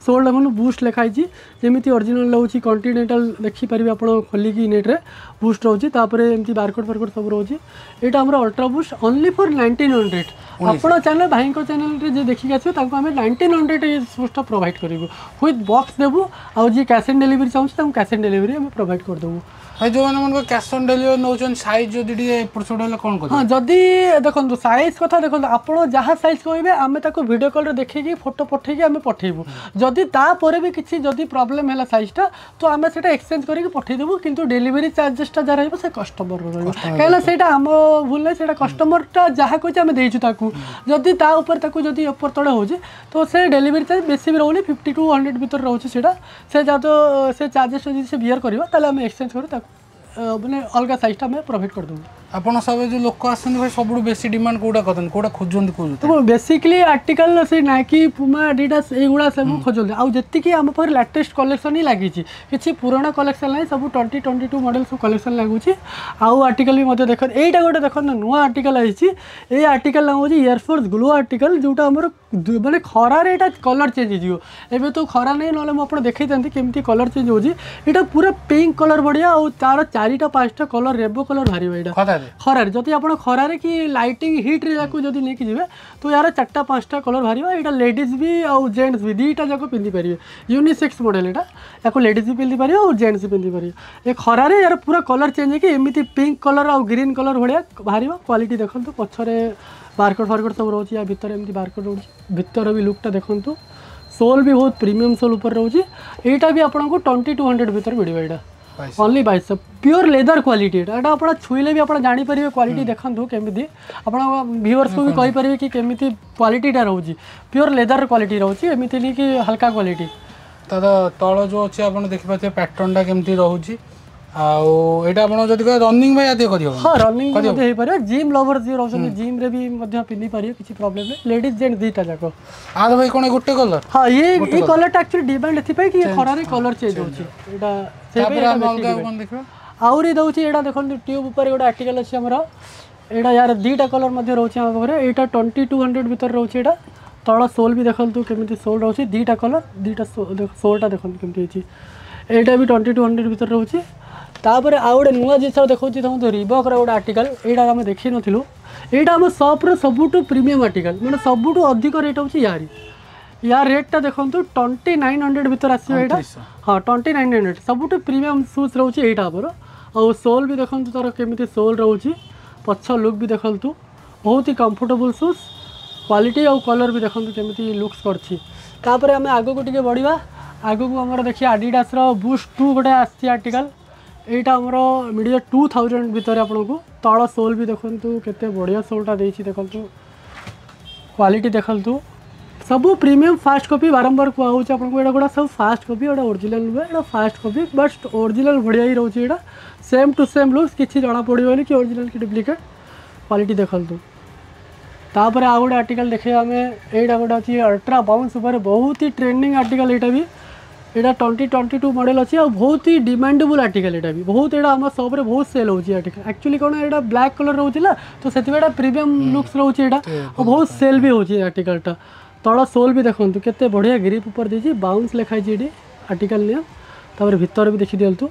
ସୋଲ୍ ଦେଖନ୍ତୁ, ବୁଷ୍ଟ ଲେଖା ହେଇଛି, ଯେମିତି ଅରିଜିନାଲ୍ ରହୁଛି କଣ୍ଟିନେଣ୍ଟାଲ୍। ଦେଖିପାରିବେ ଆପଣ ଖୋଲିକି ନେଟ୍ରେ। ବୁଷ୍ଟ ରହୁଛି, ତାପରେ ଏମିତି ବାରକୋଡ଼ ଫାରକୋଡ଼ ସବୁ ରହୁଛି। ଏଇଟା ଆମର ଅଲ୍ଟ୍ରା ବୁଷ୍ଟ ଓନ୍ଲି ଫର୍ 1900। ଆପଣ ଚ୍ୟାନେଲ୍, ଭାଇଙ୍କ ଚ୍ୟାନେଲ୍ରେ ଯିଏ ଦେଖିକି ଆସିବେ, ତାଙ୍କୁ ଆମେ 1900 ଏ ସୁଜ୍ଟା ପ୍ରୋଭାଇଡ଼ କରିବୁ, ୱିଥ୍ ବକ୍ସ ଦେବୁ। ଆଉ ଯିଏ କ୍ୟାସ୍ ଅନ୍ ଡେଲିଭରି ଚାହୁଁଛି, ତାଙ୍କୁ କ୍ୟାସ୍ ଅନ୍ ଡେଲିଭରି ଆମେ ପ୍ରୋଭାଇଡ଼ କରିଦେବୁ। ଭାଇ, ଯେଉଁମାନେ ମନେକର କ୍ୟାସ୍ ଅନ୍ ଡେଲିଭରି ନେଉଛନ୍ତି, ସାଇଜ୍ ଯଦି ଟିକେ ଏପଟ ସେପଟ ହେଲେ କ'ଣ କରିବେ? ହଁ, ଯଦି ଦେଖନ୍ତୁ, ସାଇଜ୍ କଥା ଦେଖନ୍ତୁ, ଆପଣ ଯାହା ସାଇଜ୍ କହିବେ ଆମେ ତାକୁ ଭିଡ଼ିଓ କଲ୍ରେ ଦେଖିକି ଫଟୋ ପଠେଇକି ଆମେ ପଠେଇବୁ। ଯଦି ତାପରେ ବି କିଛି ଯଦି ପ୍ରୋବ୍ଲେମ୍ ହେଲା ସାଇଜ୍ଟା, ତ ଆମେ ସେଇଟା ଏକ୍ସଚେଞ୍ଜ କରିକି ପଠେଇଦେବୁ। କିନ୍ତୁ ଡେଲିଭରି ଚାର୍ଜେସଟା ଯାହା ରହିବ ସେ କଷ୍ଟମରର ରହିବ, କାହିଁକିନା ସେଇଟା ଆମ ଭୁଲ ନାହିଁ। ସେଇଟା କଷ୍ଟମରଟା ଯାହା କହିଛି ଆମେ ଦେଇଛୁ ତାକୁ। ଯଦି ତା ଉପରେ ତାକୁ ଯଦି ଉପର ତଳେ ହେଉଛି, ତ ସେ ଡେଲିଭରି ଚାର୍ଜ ବେଶୀ ବି ରହୁନି, 50 ଟୁ 100 ଭିତରେ ରହୁଛି ସେଇଟା। ସେ ଯାହା ତ ସେ ଚାର୍ଜେସ୍ ଯଦି ସେ ବିୟର କରିବ, ତାହେଲେ ଆମେ ଏକ୍ସଚେଞ୍ଜ କରି ତାକୁ ମାନେ ଅଲଗା ସାଇଜ୍ଟା ଆମେ ପ୍ରୋଭାଇଡ଼ କରିଦେବୁ। ଆପଣ ସବୁ ଯେଉଁ ଲୋକ ଆସନ୍ତି ଭାଇ, ସବୁଠୁ ବେଶୀ ଡିମାଣ୍ଡ କୋଉଟା କରନ୍ତି, କୋଉଟା ଖୋଜନ୍ତି, କୋଉ ଜୋତା? ବେସିକଲି ଆର୍ଟିକଲ ସେଇ ନାଇକି, ପୁମା, ଆଡ଼ିଡାସ୍ ଏଇଗୁଡ଼ା ସବୁ ଖୋଜନ୍ତି। ଆଉ ଯେତିକି ଆମ ପାଖରେ ଲାଟେଷ୍ଟ କଲେକ୍ସନ୍ ହିଁ ଲାଗିଛି, କିଛି ପୁରୁଣା କଲେକ୍ସନ୍ ନାହିଁ। ସବୁ 2022 ମଡ଼େଲ୍ ସବୁ କଲେକ୍ସନ୍ ଲାଗୁଛି। ଆଉ ଆର୍ଟିକଲ ବି ମଧ୍ୟ ଦେଖନ୍ତୁ। ଏଇଟା ଗୋଟେ ଦେଖନ୍ତୁ, ନୂଆ ଆର୍ଟିକଲ ଆସିଛି। ଏଇ ଆର୍ଟିକଲ ନାଁ ହେଉଛି ଏୟାରଫୋର୍ସ ଗ୍ଲୋ ଆର୍ଟିକଲ, ଯେଉଁଟା ଆମର ମାନେ ଖରାରେ ଏଇଟା କଲର୍ ଚେଞ୍ଜ ହେଇଯିବ। ଏବେ ତ ଖରା ନାହିଁ, ନହେଲେ ମୁଁ ଆପଣ ଦେଖେଇଥାନ୍ତି କେମିତି କଲର୍ ଚେଞ୍ଜ ହେଉଛି। ଏଇଟା ପୁରା ପିଙ୍କ କଲର୍ ବଢ଼ିଆ, ଆଉ ତାର ଚାରିଟା ପାଞ୍ଚଟା କଲର୍, ରେନବୋ କଲର୍ ବାହାରିବ ଏଇଟା। ଖରାରେ। ଖରାରେ ଯଦି ଆପଣ ଖରାରେ କି ଲାଇଟିଂ ହିଟ୍ରେ ୟାକୁ ଯଦି ନେଇକି ଯିବେ, ତ ୟାର ଚାରିଟା ପାଞ୍ଚଟା କଲର୍ ବାହାରିବ। ଏଇଟା ଲେଡ଼ିଜ୍ ବି ଆଉ ଜେଣ୍ଟସ୍ ବି ଦୁଇଟା ଯାକ ପିନ୍ଧିପାରିବେ। ୟୁନିସେକ୍ସ ମଡ଼େଲ୍ ଏଇଟା। ୟାକୁ ଲେଡ଼ିଜ୍ ବି ପିନ୍ଧିପାରିବେ ଆଉ ଜେଣ୍ଟସ୍ ବି ପିନ୍ଧିପାରିବେ। ଏ ଖରାରେ ୟାର ପୁରା କଲର୍ ଚେଞ୍ଜ ହେଇକି ଏମିତି ପିଙ୍କ କଲର୍ ଆଉ ଗ୍ରୀନ୍ କଲର୍ ଭଳିଆ ବାହାରିବ। କ୍ୱାଲିଟି ଦେଖନ୍ତୁ, ପଛରେ ବାରକୋଡ଼ ଫାରକୋଡ଼ ସବୁ ରହୁଛି। ୟା ଭିତରେ ଏମିତି ବାରକୋଡ଼ ରହୁଛି। ଭିତର ବି ଲୁକ୍ଟା ଦେଖନ୍ତୁ। ସୋଲ୍ ବି ବହୁତ ପ୍ରିମିୟମ୍ ସୋଲ୍ ଉପରେ ରହୁଛି। ଏଇଟା ବି ଆପଣଙ୍କୁ 2200 ଭିତରେ ମିଳିବ ଏଇଟା। ଓନ୍ଲି 2200। ପିଓର ଲେଦର କ୍ୱାଲିଟି ଏଇଟା। ଏଇଟା ଆପଣ ଛୁଇଁଲେ ବି ଆପଣ ଜାଣିପାରିବେ। କ୍ୱାଲିଟି ଦେଖନ୍ତୁ କେମିତି, ଆପଣ ଭିଉଅର୍ସକୁ ବି କହିପାରିବେ କି କେମିତି କ୍ୱାଲିଟିଟା ରହୁଛି। ପିଓର ଲେଦର କ୍ୱାଲିଟି ରହୁଛି, ଏମିତି ନାହିଁ କି ହାଲକା କ୍ୱାଲିଟି। ତାର ତଳ ଯେଉଁ ଅଛି, ଆପଣ ଦେଖିପାରୁଥିବେ ପ୍ୟାଟର୍ନଟା କେମିତି ରହୁଛି। ଆଉ ଏଇଟା ଆପଣ ଯଦି କହିବେ, ରନିଂ ପାଇଁ ଆଦି କରିହେବ? ହଁ, ରନିଂ ମଧ୍ୟ ହେଇପାରିବ। ଜିମ୍ ଲଭର ଯିଏ ରହୁଛନ୍ତି, ଜିମ୍ରେ ବି ମଧ୍ୟ ପିନ୍ଧିପାରିବେ, କିଛି ପ୍ରୋବ୍ଲେମ୍ ନାହିଁ। ଲେଡ଼ିଜ୍ ଜେଣ୍ଟ ଦୁଇଟା ଯାକ। ଆର ଭାଇ କ'ଣ ଗୋଟେ କଲର୍? ହଁ, ଇଏ ଏଇ କଲର୍ଟା ଆକ୍ଚୁଆଲି ଡିମାଣ୍ଡ ଏଥିପାଇଁ କି ଖରାରେ କଲର୍ ଚେଞ୍ଜ ହେଉଛି ଏଇଟା। ତାପରେ ଆମେ ଅଲଗା କ'ଣ ଦେଖିବା? ଆହୁରି ଦେଉଛି। ଏଇଟା ଦେଖନ୍ତୁ, ଟ୍ୟୁବ୍ ଉପରେ ଗୋଟେ ଆର୍ଟିକଲ୍ ଅଛି ଆମର ଏଇଟା। ୟାର ଦୁଇଟା କଲର୍ ମଧ୍ୟ ରହୁଛି ଆମ ପାଖରେ। ଏଇଟା 2200 ଭିତରେ ରହୁଛି ଏଇଟା। ତଳ ସୋଲ୍ ବି ଦେଖନ୍ତୁ କେମିତି ସୋଲ୍ ରହୁଛି। ଦୁଇଟା କଲର୍, ଦୁଇଟା ସୋଲ୍ଟା ଦେଖନ୍ତୁ କେମିତି ହେଇଛି। ଏଇଟା ବି 2200 ଭିତରେ ରହୁଛି। ତାପରେ ଆଉ ଗୋଟେ ନୂଆ ଜିନିଷ ଦେଖାଉଛି, ଦେଖନ୍ତୁ, ରିବକ୍ର ଗୋଟେ ଆର୍ଟିକଲ୍। ଏଇଟା ଆମେ ଦେଖିନଥିଲୁ। ଏଇଟା ଆମ ସପ୍ର ସବୁଠୁ ପ୍ରିମିୟମ୍ ଆର୍ଟିକଲ୍, ମାନେ ସବୁଠୁ ଅଧିକ ରେଟ୍ ହେଉଛି ୟାରି। ୟା ରେଟ୍ଟା ଦେଖନ୍ତୁ, 2900 ଭିତରେ ଆସିବ ଏଇଟା। ହଁ, 2900। ସବୁଠୁ ପ୍ରିମିୟମ୍ ସୁଜ୍ ରହୁଛି ଏଇଟା ଆମର। ଆଉ ସୋଲ୍ ବି ଦେଖନ୍ତୁ ତାର କେମିତି ସୋଲ୍ ରହୁଛି। ପଛ ଲୁକ୍ ବି ଦେଖନ୍ତୁ, ବହୁତ ହି କମ୍ଫର୍ଟେବୁଲ୍ ସୁଜ୍। କ୍ୱାଲିଟି ଆଉ କଲର୍ ବି ଦେଖନ୍ତୁ କେମିତି ଲୁକ୍ସ କରିଛି। ତାପରେ ଆମେ ଆଗକୁ ଟିକେ ବଢ଼ିବା। ଆଗକୁ ଆମର ଦେଖିବା ଆଡ଼ିଡାସର ବୁଷ୍ଟ 2 ଗୋଟେ ଆସିଛି ଆର୍ଟିକଲ୍। ଏଇଟା ଆମର ମିଳିବ 2000 ଭିତରେ ଆପଣଙ୍କୁ। ତଳ ସୋଲ୍ ବି ଦେଖନ୍ତୁ, କେତେ ବଢ଼ିଆ ସୋଲ୍ଟା ଦେଇଛି ଦେଖନ୍ତୁ। କ୍ୱାଲିଟି ଦେଖନ୍ତୁ, ସବୁ ପ୍ରିମିୟମ୍ ଫାଷ୍ଟ କପି। ବାରମ୍ବାର କୁହାହେଉଛି ଆପଣଙ୍କୁ, ଏଇଟା ଗୁଡ଼ା ସବୁ ଫାଷ୍ଟ କପି। ଏଇଟା ଓରିଜିନାଲ୍ ନୁହେଁ, ଏଇଟା ଫାଷ୍ଟ କପି, ବଟ୍ ଓରିଜିନାଲ୍ ଭଳିଆ ହିଁ ରହୁଛି ଏଇଟା। ସେମ୍ ଟୁ ସେମ୍ ଲୁକ୍ସ, କିଛି ଜଣା ପଡ଼ିବନି କି ଓରିଜିନାଲ୍ କି ଡୁପ୍ଲିକେଟ୍। କ୍ୱାଲିଟି ଦେଖନ୍ତୁ। ତାପରେ ଆଉ ଗୋଟେ ଆର୍ଟିକଲ୍ ଦେଖିବା ଆମେ। ଏଇଟା ଗୋଟେ ଅଛି ଅଲ୍ଟ୍ରା ବାଉନ୍ସ ଉପରେ, ବହୁତ ହି ଟ୍ରେଣ୍ଡିଂ ଆର୍ଟିକଲ୍ ଏଇଟା ବି। ଏଇଟା 2022 ମଡ଼େଲ୍ ଅଛି ଆଉ ବହୁତ ହି ଡିମାଣ୍ଡେବୁଲ୍ ଆର୍ଟିକଲ୍ ଏଇଟା ବି ବହୁତ। ଏଇଟା ଆମ ସପ୍ରେ ବହୁତ ସେଲ୍ ହେଉଛି ଆର୍ଟିକଲ୍। ଆକ୍ଚୁଆଲି କ'ଣ, ଏଇଟା ବ୍ଲାକ୍ କଲର୍ ରହୁଛି ନା, ତ ସେଥିପାଇଁ ଏଇଟା ପ୍ରିମିୟମ୍ ଲୁକ୍ସ ରହୁଛି ଏଇଟା ଆଉ ବହୁତ ସେଲ୍ ବି ହେଉଛି ଆର୍ଟିକଲ୍ଟା। ତଳ ସୋଲ୍ ବି ଦେଖନ୍ତୁ, କେତେ ବଢ଼ିଆ ଗ୍ରିପ୍ ଉପରେ ଦେଇଛି। ବାଉନ୍ସ ଲେଖା ହେଇଛି ଏଇଠି ଆର୍ଟିକଲ୍ ନିୟମ। ତାପରେ ଭିତରେ ବି ଦେଖିଦିଅନ୍ତୁ।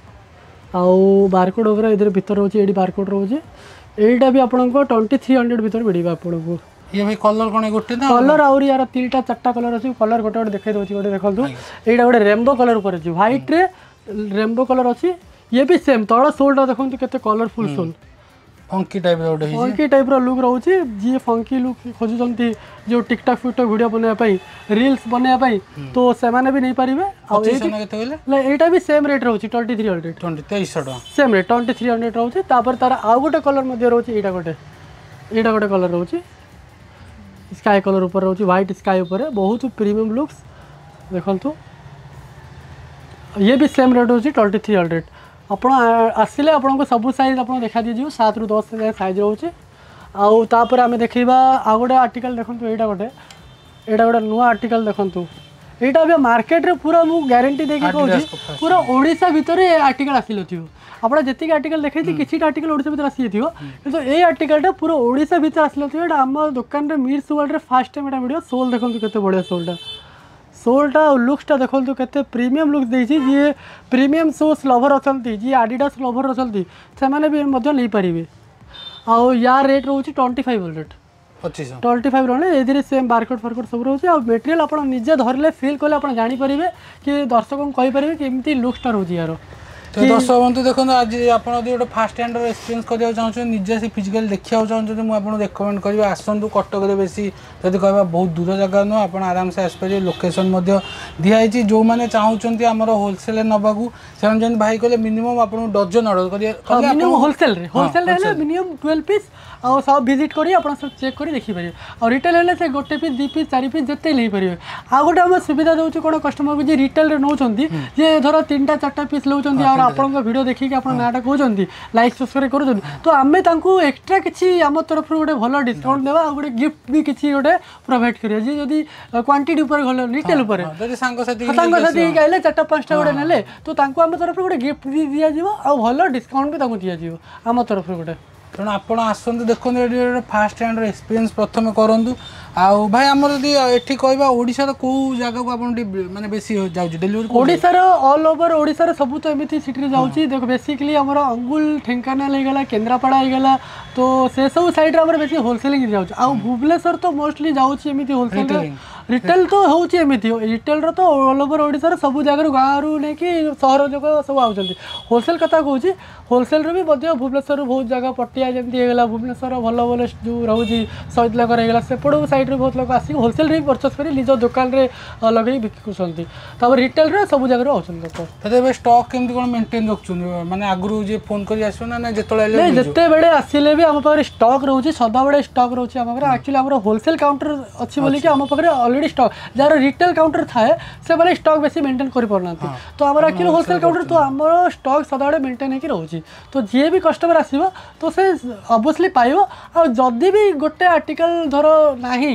ଆଉ ବାରକୋଡ଼ ଉପରେ ଏଥିରେ ଭିତରେ ରହୁଛି, ଏଇଠି ବାରକୋଡ଼ ରହୁଛି। ଏଇଟା ବି ଆପଣଙ୍କ 2300 ଭିତରେ ମିଳିବ ଆପଣଙ୍କୁ। ଇଏ ଭାଇ କଲର୍ କ'ଣ ଗୋଟେ ନା? କଲର୍ ଆହୁରି ୟାର ତିନିଟା ଚାରିଟା କଲର୍ ଅଛି। କଲର୍ ଗୋଟେ ଗୋଟେ ଦେଖେଇ ଦେଉଛି। ଗୋଟେ ଦେଖନ୍ତୁ, ଏଇଟା ଗୋଟେ ରେନବୋ କଲର୍ ଉପରେ ଅଛି। ହ୍ୱାଇଟ୍ରେ ରେନବୋ କଲର୍ ଅଛି। ଇଏ ବି ସେମ୍। ତଳ ସୋଲ୍ଟା ଦେଖନ୍ତୁ, କେତେ କଲରଫୁଲ୍ ସୋଲ୍। ଫଙ୍କି ଟାଇପ୍ର ଗୋଟେ ହେଇଛି। ଫଙ୍କି ଟାଇପ୍ର ଲୁକ୍ ରହୁଛି। ଯିଏ ଫଙ୍କି ଲୁକ୍ ଖୋଜୁଛନ୍ତି, ଯେଉଁ ଟିକଟକ୍ ଫିକଟକ୍ ଭିଡ଼ିଓ ବନେଇବା ପାଇଁ, ରିଲ୍ସ ବନେଇବା ପାଇଁ, ତ ସେମାନେ ବି ନେଇପାରିବେ। ଆଉ 2500 ନା କେତେ କହିଲେ? ଏଇଟା ବି ସେମ୍ ରେଟ୍ ରହୁଛି, 2300। 2300 ଟଙ୍କା। ସେମ୍ ରେଟ୍ 2300 ରହୁଛି। ତାପରେ ତାର ଆଉ ଗୋଟେ କଲର୍ ମଧ୍ୟ ରହୁଛି। ଏଇଟା ଗୋଟେ କଲର୍ ରହୁଛି, ସ୍କାଏ କଲର୍ ଉପରେ ରହୁଛି, ହ୍ୱାଇଟ୍ ସ୍କାଏ ଉପରେ। ବହୁତ ପ୍ରିମିୟମ୍ ଲୁକ୍ସ ଦେଖନ୍ତୁ। ଇଏ ବି ସେମ୍ ରେଟ୍ ରହୁଛି, 2300। ଆପଣ ଆସିଲେ ଆପଣଙ୍କୁ ସବୁ ସାଇଜ୍ ଆପଣଙ୍କୁ ଦେଖା ଦିଆଯିବ। 7ରୁ 10 ଯାଏଁ ସାଇଜ୍ ରହୁଛି। ଆଉ ତାପରେ ଆମେ ଦେଖିବା ଆଉ ଗୋଟେ ଆର୍ଟିକଲ୍। ଦେଖନ୍ତୁ, ଏଇଟା ଗୋଟେ ନୂଆ ଆର୍ଟିକଲ୍ ଦେଖନ୍ତୁ। ଏଇଟା ଏବେ ମାର୍କେଟରେ ପୁରା ମୁଁ ଗ୍ୟାରେଣ୍ଟି ଦେଇକି କହୁଛି, ପୁରା ଓଡ଼ିଶା ଭିତରେ ଏ ଆର୍ଟିକଲ୍ ଆସିନଥିବ। ଆପଣ ଯେତିକି ଆର୍ଟିକଲ୍ ଦେଖେଇଛି, କିଛିଟା ଆର୍ଟିକଲ୍ ଓଡ଼ିଶା ଭିତରେ ଆସିଯାଇଥିବ, କିନ୍ତୁ ଏଇ ଆର୍ଟିକଲ୍ଟା ପୁରା ଓଡ଼ିଶା ଭିତରେ ଆସିନଥିବ। ଏଇଟା ଆମ ଦୋକାନରେ ମିର୍ସ ୱାର୍ଲଡରେ ଫାର୍ଷ୍ଟ ଟାଇମ୍ ଏଇଟା ମିଳିବ। ସୋଲ୍ ଦେଖନ୍ତୁ, କେତେ ବଢ଼ିଆ ସୋଲ୍ଟା। ସୋଲ୍ଟା ଆଉ ଲୁକ୍ସଟା ଦେଖନ୍ତୁ, କେତେ ପ୍ରିମିୟମ୍ ଲୁକ୍ସ ଦେଇଛି। ଯିଏ ପ୍ରିମିୟମ୍ ସୁଜ୍ ଲଭର୍ ଅଛନ୍ତି, ଯିଏ ଆଡ଼ିଡାସ୍ ଲଭର୍ ଅଛନ୍ତି, ସେମାନେ ବି ମଧ୍ୟ ନେଇପାରିବେ। ଆଉ ୟା ରେଟ୍ ରହୁଛି 2500। 2500। 25 ରହିଲେ। ଏଥିରେ ସେମ୍ ବାରକୋଡ଼ ଫାରକୋଡ଼ ସବୁ ରହୁଛି। ଆଉ ମେଟେରିଆଲ୍ ଆପଣ ନିଜେ ଧରିଲେ, ଫିଲ୍ କଲେ ଆପଣ ଜାଣିପାରିବେ କି ଦର୍ଶକଙ୍କୁ କହିପାରିବେ କି ଏମିତି ଲୁକ୍ସଟା ରହୁଛି ୟାର। ତ ଦର୍ଶକ ବନ୍ଧୁ ଦେଖନ୍ତୁ, ଆଜି ଆପଣ ଯଦି ଗୋଟେ ଫାଷ୍ଟ ହ୍ୟାଣ୍ଡର ଏକ୍ସପିରିଏନ୍ସ କରିବାକୁ ଚାହୁଁଛନ୍ତି, ନିଜେ ସେ ଫିଜିକାଲି ଦେଖିବାକୁ ଚାହୁଁଛନ୍ତି, ମୁଁ ଆପଣଙ୍କୁ ରେକମେଣ୍ଡ କରିବି, ଆସନ୍ତୁ। କଟକରେ ବେଶୀ ଯଦି କହିବା ବହୁତ ଦୂର ଜାଗା ନୁହଁ, ଆପଣ ଆରାମସେ ଆସିପାରିବେ। ଲୋକେସନ୍ ମଧ୍ୟ ଦିଆହେଇଛି। ଯେଉଁମାନେ ଚାହୁଁଛନ୍ତି ଆମର ହୋଲସେଲ୍ରେ ନେବାକୁ, ସେମାନେ ଯେମିତି ଭାଇ କହିଲେ, ମିନିମମ୍ ଆପଣଙ୍କୁ ଡଜନ ଅର୍ଡ଼ର କରିବେ କଲେ। ମିନିମମ୍ ହୋଲସେଲ୍ରେ ହେଲେ ମିନିମମ୍ 12 ପିସ୍ ଆଉ ସବୁ ଭିଜିଟ୍ କରି ଆପଣ ସବୁ ଚେକ୍ କରି ଦେଖିପାରିବେ। ଆଉ ରିଟେଲ୍ ହେଲେ ସେ ଗୋଟେ ପିସ୍, ଦୁଇ ପିସ୍, ଚାରି ପିସ୍ ଯେତେ ନେଇପାରିବେ। ଆଉ ଗୋଟେ ଆମେ ସୁବିଧା ଦେଉଛୁ କ'ଣ କଷ୍ଟମରକୁ, ଯିଏ ରିଟେଲ୍ରେ ନେଉଛନ୍ତି, ଯିଏ ଧର ତିନିଟା ଚାରିଟା ପିସ୍ ନେଉଛନ୍ତି ଆଉ ଆପଣଙ୍କ ଭିଡ଼ିଓ ଦେଖିକି ଆପଣ ନାଁଟା କହୁଛନ୍ତି, ଲାଇକ୍ ସବସ୍କ୍ରାଇବ୍ କରୁଛନ୍ତି, ତ ଆମେ ତାଙ୍କୁ ଏକ୍ସଟ୍ରା କିଛି ଆମ ତରଫରୁ ଗୋଟେ ଭଲ ଡିସକାଉଣ୍ଟ ଦେବା ଆଉ ଗୋଟେ ଗିଫ୍ଟ ବି କିଛି ଗୋଟେ ପ୍ରୋଭାଇଡ଼ କରିବା। ଯିଏ ଯଦି କ୍ୱାଣ୍ଟିଟି ଉପରେ ଗଲେ, ରିଟେଲ୍ ଉପରେ ଯଦି ସାଙ୍ଗସାଥି ସାଙ୍ଗସାଥି ହେଇକି ଆଇଲେ, ଚାରିଟା ପାଞ୍ଚଟା ଗୋଟେ ନେଲେ, ତ ତାଙ୍କୁ ଆମ ତରଫରୁ ଗୋଟେ ଗିଫ୍ଟ ବି ଦିଆଯିବ ଆଉ ଭଲ ଡିସକାଉଣ୍ଟ ବି ତାଙ୍କୁ ଦିଆଯିବ ଆମ ତରଫରୁ ଗୋଟେ। ତେଣୁ ଆପଣ ଆସନ୍ତୁ, ଦେଖନ୍ତୁ, ଏଠି ଗୋଟେ ଫାଷ୍ଟ ହ୍ୟାଣ୍ଡର ଏକ୍ସପିରିଏନ୍ସ ପ୍ରଥମେ କରନ୍ତୁ। ଆଉ ଭାଇ, ଆମର ଯଦି ଏଠି କହିବା, ଓଡ଼ିଶାର କୋଉ ଜାଗାକୁ ଆପଣ ଟିକେ ମାନେ ବେଶୀ ଯାଉଛି ଡେଲିଭରି? ଓଡ଼ିଶାର, ଅଲ୍ ଓଭର ଓଡ଼ିଶାର ସବୁ ତ ଏମିତି ସିଟିରେ ଯାଉଛି। ଦେଖ, ବେସିକଲି ଆମର ଅନୁଗୁଳ, ଢେଙ୍କାନାଳ ହେଇଗଲା, କେନ୍ଦ୍ରାପଡ଼ା ହେଇଗଲା, ତ ସେସବୁ ସାଇଡ଼୍ରେ ଆମର ବେଶୀ ହୋଲସେଲିଂ ଯାଉଛି। ଆଉ ଭୁବନେଶ୍ୱର ତ ମୋଷ୍ଟଲି ଯାଉଛି ଏମିତି ହୋଲସେଲ୍। ରିଟେଲ ତ ହେଉଛି ଏମିତି, ରିଟେଲର ତ ଅଲ୍ ଓଭର ଓଡ଼ିଶାର ସବୁ ଜାଗାରୁ, ଗାଁରୁ ନେଇକି ସହର ଯାକ ସବୁ ଆଉଛନ୍ତି। ହୋଲସେଲ୍ କଥା କହୁଛି, ହୋଲସେଲ୍ରୁ ବି ମଧ୍ୟ ଭୁବନେଶ୍ୱରରୁ ବହୁତ ଜାଗା, ପଟିଆ ଯେମିତି ହେଇଗଲା, ଭୁବନେଶ୍ୱର ଭଲ ଭଲ ଯେଉଁ ରହୁଛି, ଶହୀଦନଗର ହେଇଗଲା, ସେପଟ ସାଇଡ଼୍ରୁ ବହୁତ ଲୋକ ଆସିକି ହୋଲସେଲ୍ରେ ବି ପରଚେସ୍ କରି ନିଜ ଦୋକାନରେ ଲଗେଇ ବିକୁଛନ୍ତି। ତାପରେ ରିଟେଲରେ ସବୁ ଜାଗାରୁ ଆଉଛନ୍ତି ଲୋକ। ତାହେଲେ ଏବେ ଷ୍ଟକ୍ କେମିତି କ'ଣ ମେଣ୍ଟେନ୍ ରଖୁଛନ୍ତି? ମାନେ ଆଗରୁ ଯିଏ ଫୋନ୍ କରି ଆସିବ ନା ଯେତେବେଳେ ଆଇଲେ? ନାଇଁ, ଯେତେବେଳେ ଆସିଲେ ବି ଆମ ପାଖରେ ଷ୍ଟକ୍ ରହୁଛି, ସଦାବେଳେ ଷ୍ଟକ୍ ରହୁଛି ଆମ ପାଖରେ। ଆକ୍ଚୁଆଲି ଆମର ହୋଲସେଲ୍ କାଉଣ୍ଟର ଅଛି ବୋଲିକି ଆମ ପାଖରେ ଅଲରେଡ଼ି ଷ୍ଟକ୍। ଯାହାର ରିଟେଲ୍ କାଉଣ୍ଟର ଥାଏ, ସେମାନେ ଷ୍ଟକ୍ ବେଶୀ ମେଣ୍ଟେନ୍ କରିପାରୁନାହାନ୍ତି। ତ ଆମର ଆକ୍ଚୁଆଲି ହୋଲସେଲ୍ କାଉଣ୍ଟର, ତ ଆମର ଷ୍ଟକ୍ ସଦାବେଳେ ମେଣ୍ଟେନ୍ ହେଇକି ରହୁଛି। ତ ଯିଏ ବି କଷ୍ଟମର ଆସିବ, ତ ସେ ଅବଭିୟସଲି ପାଇବ। ଆଉ ଯଦି ବି ଗୋଟେ ଆର୍ଟିକଲ ଧର ନାହିଁ,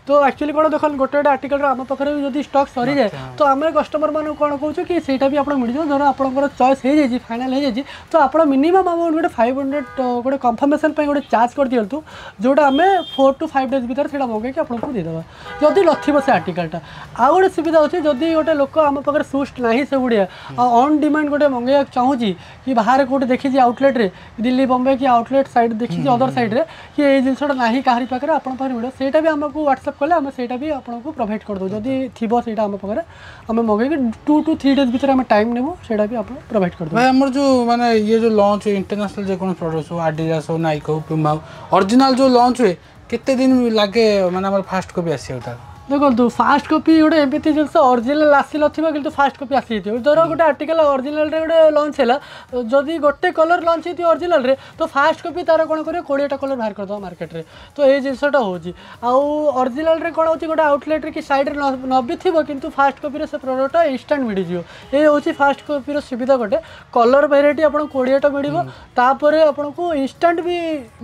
ତ ଆକ୍ଚୁଆଲି କ'ଣ ଦେଖନ୍ତୁ, ଗୋଟେ ଗୋଟେ ଆର୍ଟିକଲର ଆମ ପାଖରେ ବି ଯଦି ଷ୍ଟକ୍ ସରିଯାଏ, ତ ଆମେ କଷ୍ଟମରମାନଙ୍କୁ କ'ଣ କହୁଛୁ କି ସେଇଟା ବି ଆପଣ ମିଳିଯିବ। ଧର ଆପଣଙ୍କର ଚଏସ୍ ହେଇଯାଇଛି, ଫାଇନାଲ୍ ହେଇଯାଇଛି, ତ ଆପଣ ମିନିମମ୍ ଆମାଉଣ୍ଟ ଗୋଟେ 500 ଗୋଟେ କନଫର୍ମେସନ୍ ପାଇଁ ଗୋଟେ ଚାର୍ଜ କରିଦିଅନ୍ତୁ, ଯେଉଁଟା ଆମେ 4 ଟୁ 5 ଡେଜ୍ ଭିତରେ ସେଇଟା ମଗେଇକି ଆପଣଙ୍କୁ ଦେଇଦେବା, ଯଦି ନଥିବ ସେ ଆର୍ଟିକଲଟା। ଆଉ ଗୋଟେ ସୁବିଧା ଅଛି, ଯଦି ଗୋଟେ ଲୋକ ଆମ ପାଖରେ ସୁଜ୍ ନାହିଁ ସେଗୁଡ଼ିଆ, ଆଉ ଅନ୍ ଡିମାଣ୍ଡ ଗୋଟେ ମଗେଇବାକୁ ଚାହୁଁଛି କି ବାହାରେ କେଉଁଠି ଦେଖିଛି ଆଉଟଲେଟ୍ରେ, ଦିଲ୍ଲୀ, ବମ୍ବେ କି ଆଉଟଲେଟ୍ ସାଇଡ଼୍ ଦେଖିଛି, ଅଦର ସାଇଡ଼୍ରେ, କି ଏଇ ଜିନିଷଟା ନାହିଁ କାହାରି ପାଖରେ, ଆପଣଙ୍କ ପାଖରେ ମିଳିବ, ସେଇଟା ବି ଆମକୁ ହ୍ୱାଟ୍ସଆପ୍ କଲେ ଆମେ ସେଇଟା ବି ଆପଣଙ୍କୁ ପ୍ରୋଭାଇଡ଼ କରିଦେବୁ। ଯଦି ଥିବ ସେଇଟା ଆମ ପାଖରେ, ଆମେ ମଗେଇକି 2 ଟୁ 3 ଡେଜ୍ ଭିତରେ ଆମେ ଟାଇମ୍ ନେବୁ, ସେଇଟା ବି ଆପଣ ପ୍ରୋଭାଇଡ଼ କରିଦେବୁ। ଭାଇ, ଆମର ଯେଉଁ ମାନେ ଇଏ ଯେଉଁ ଲଞ୍ଚ ଇଣ୍ଟରନ୍ୟାସନାଲ୍ ଯେକୌଣସି ପ୍ରଡକ୍ଟ ହଉ, ଆଡ଼ିଡାସ୍ ହଉ, ନାଇକ୍ ହଉ, ପୁମା ହଉ, ଅରିଜିନାଲ୍ ଯେଉଁ ଲଞ୍ଚ ହୁଏ, କେତେ ଦିନ ଲାଗେ ମାନେ ଆମର ଫାଷ୍ଟ କପି ଆସିବାକୁ ତାର? ଦେଖନ୍ତୁ, ଫାଷ୍ଟ କପି ଗୋଟେ ଏମିତି ଜିନିଷ, ଅରିଜିନାଲ୍ ଆସିନଥିବ କିନ୍ତୁ ଫାଷ୍ଟ କପି ଆସିଯାଇଥିବ। ଧର ଗୋଟେ ଆର୍ଟିକଲ ଅରିଜିନାଲରେ ଗୋଟେ ଲଞ୍ଚ ହେଲା, ଯଦି ଗୋଟେ କଲର୍ ଲଞ୍ଚ ହେଇଥିବ ଅରିଜିନାଲରେ, ତ ଫାଷ୍ଟ କପି ତାର କ'ଣ କରିବ, 20ଟା କଲର୍ ବାହାର କରିଦେବ ମାର୍କେଟରେ। ତ ଏଇ ଜିନିଷଟା ହେଉଛି। ଆଉ ଅରିଜିନାଲରେ କ'ଣ ହେଉଛି, ଗୋଟେ ଆଉଟଲେଟ୍ରେ କି ସାଇଡ଼୍ରେ ନ ବି ଥିବ, କିନ୍ତୁ ଫାଷ୍ଟ କପିରେ ସେ ପ୍ରଡ଼କ୍ଟଟା ଇନଷ୍ଟାଣ୍ଟ ମିଳିଯିବ। ଏଇ ହେଉଛି ଫାଷ୍ଟ କପିର ସୁବିଧା ଗୋଟେ। କଲର୍ ଭେରାଇଟି ଆପଣଙ୍କୁ 20ଟା ମିଳିବ, ତାପରେ ଆପଣଙ୍କୁ ଇନଷ୍ଟାଣ୍ଟ ବି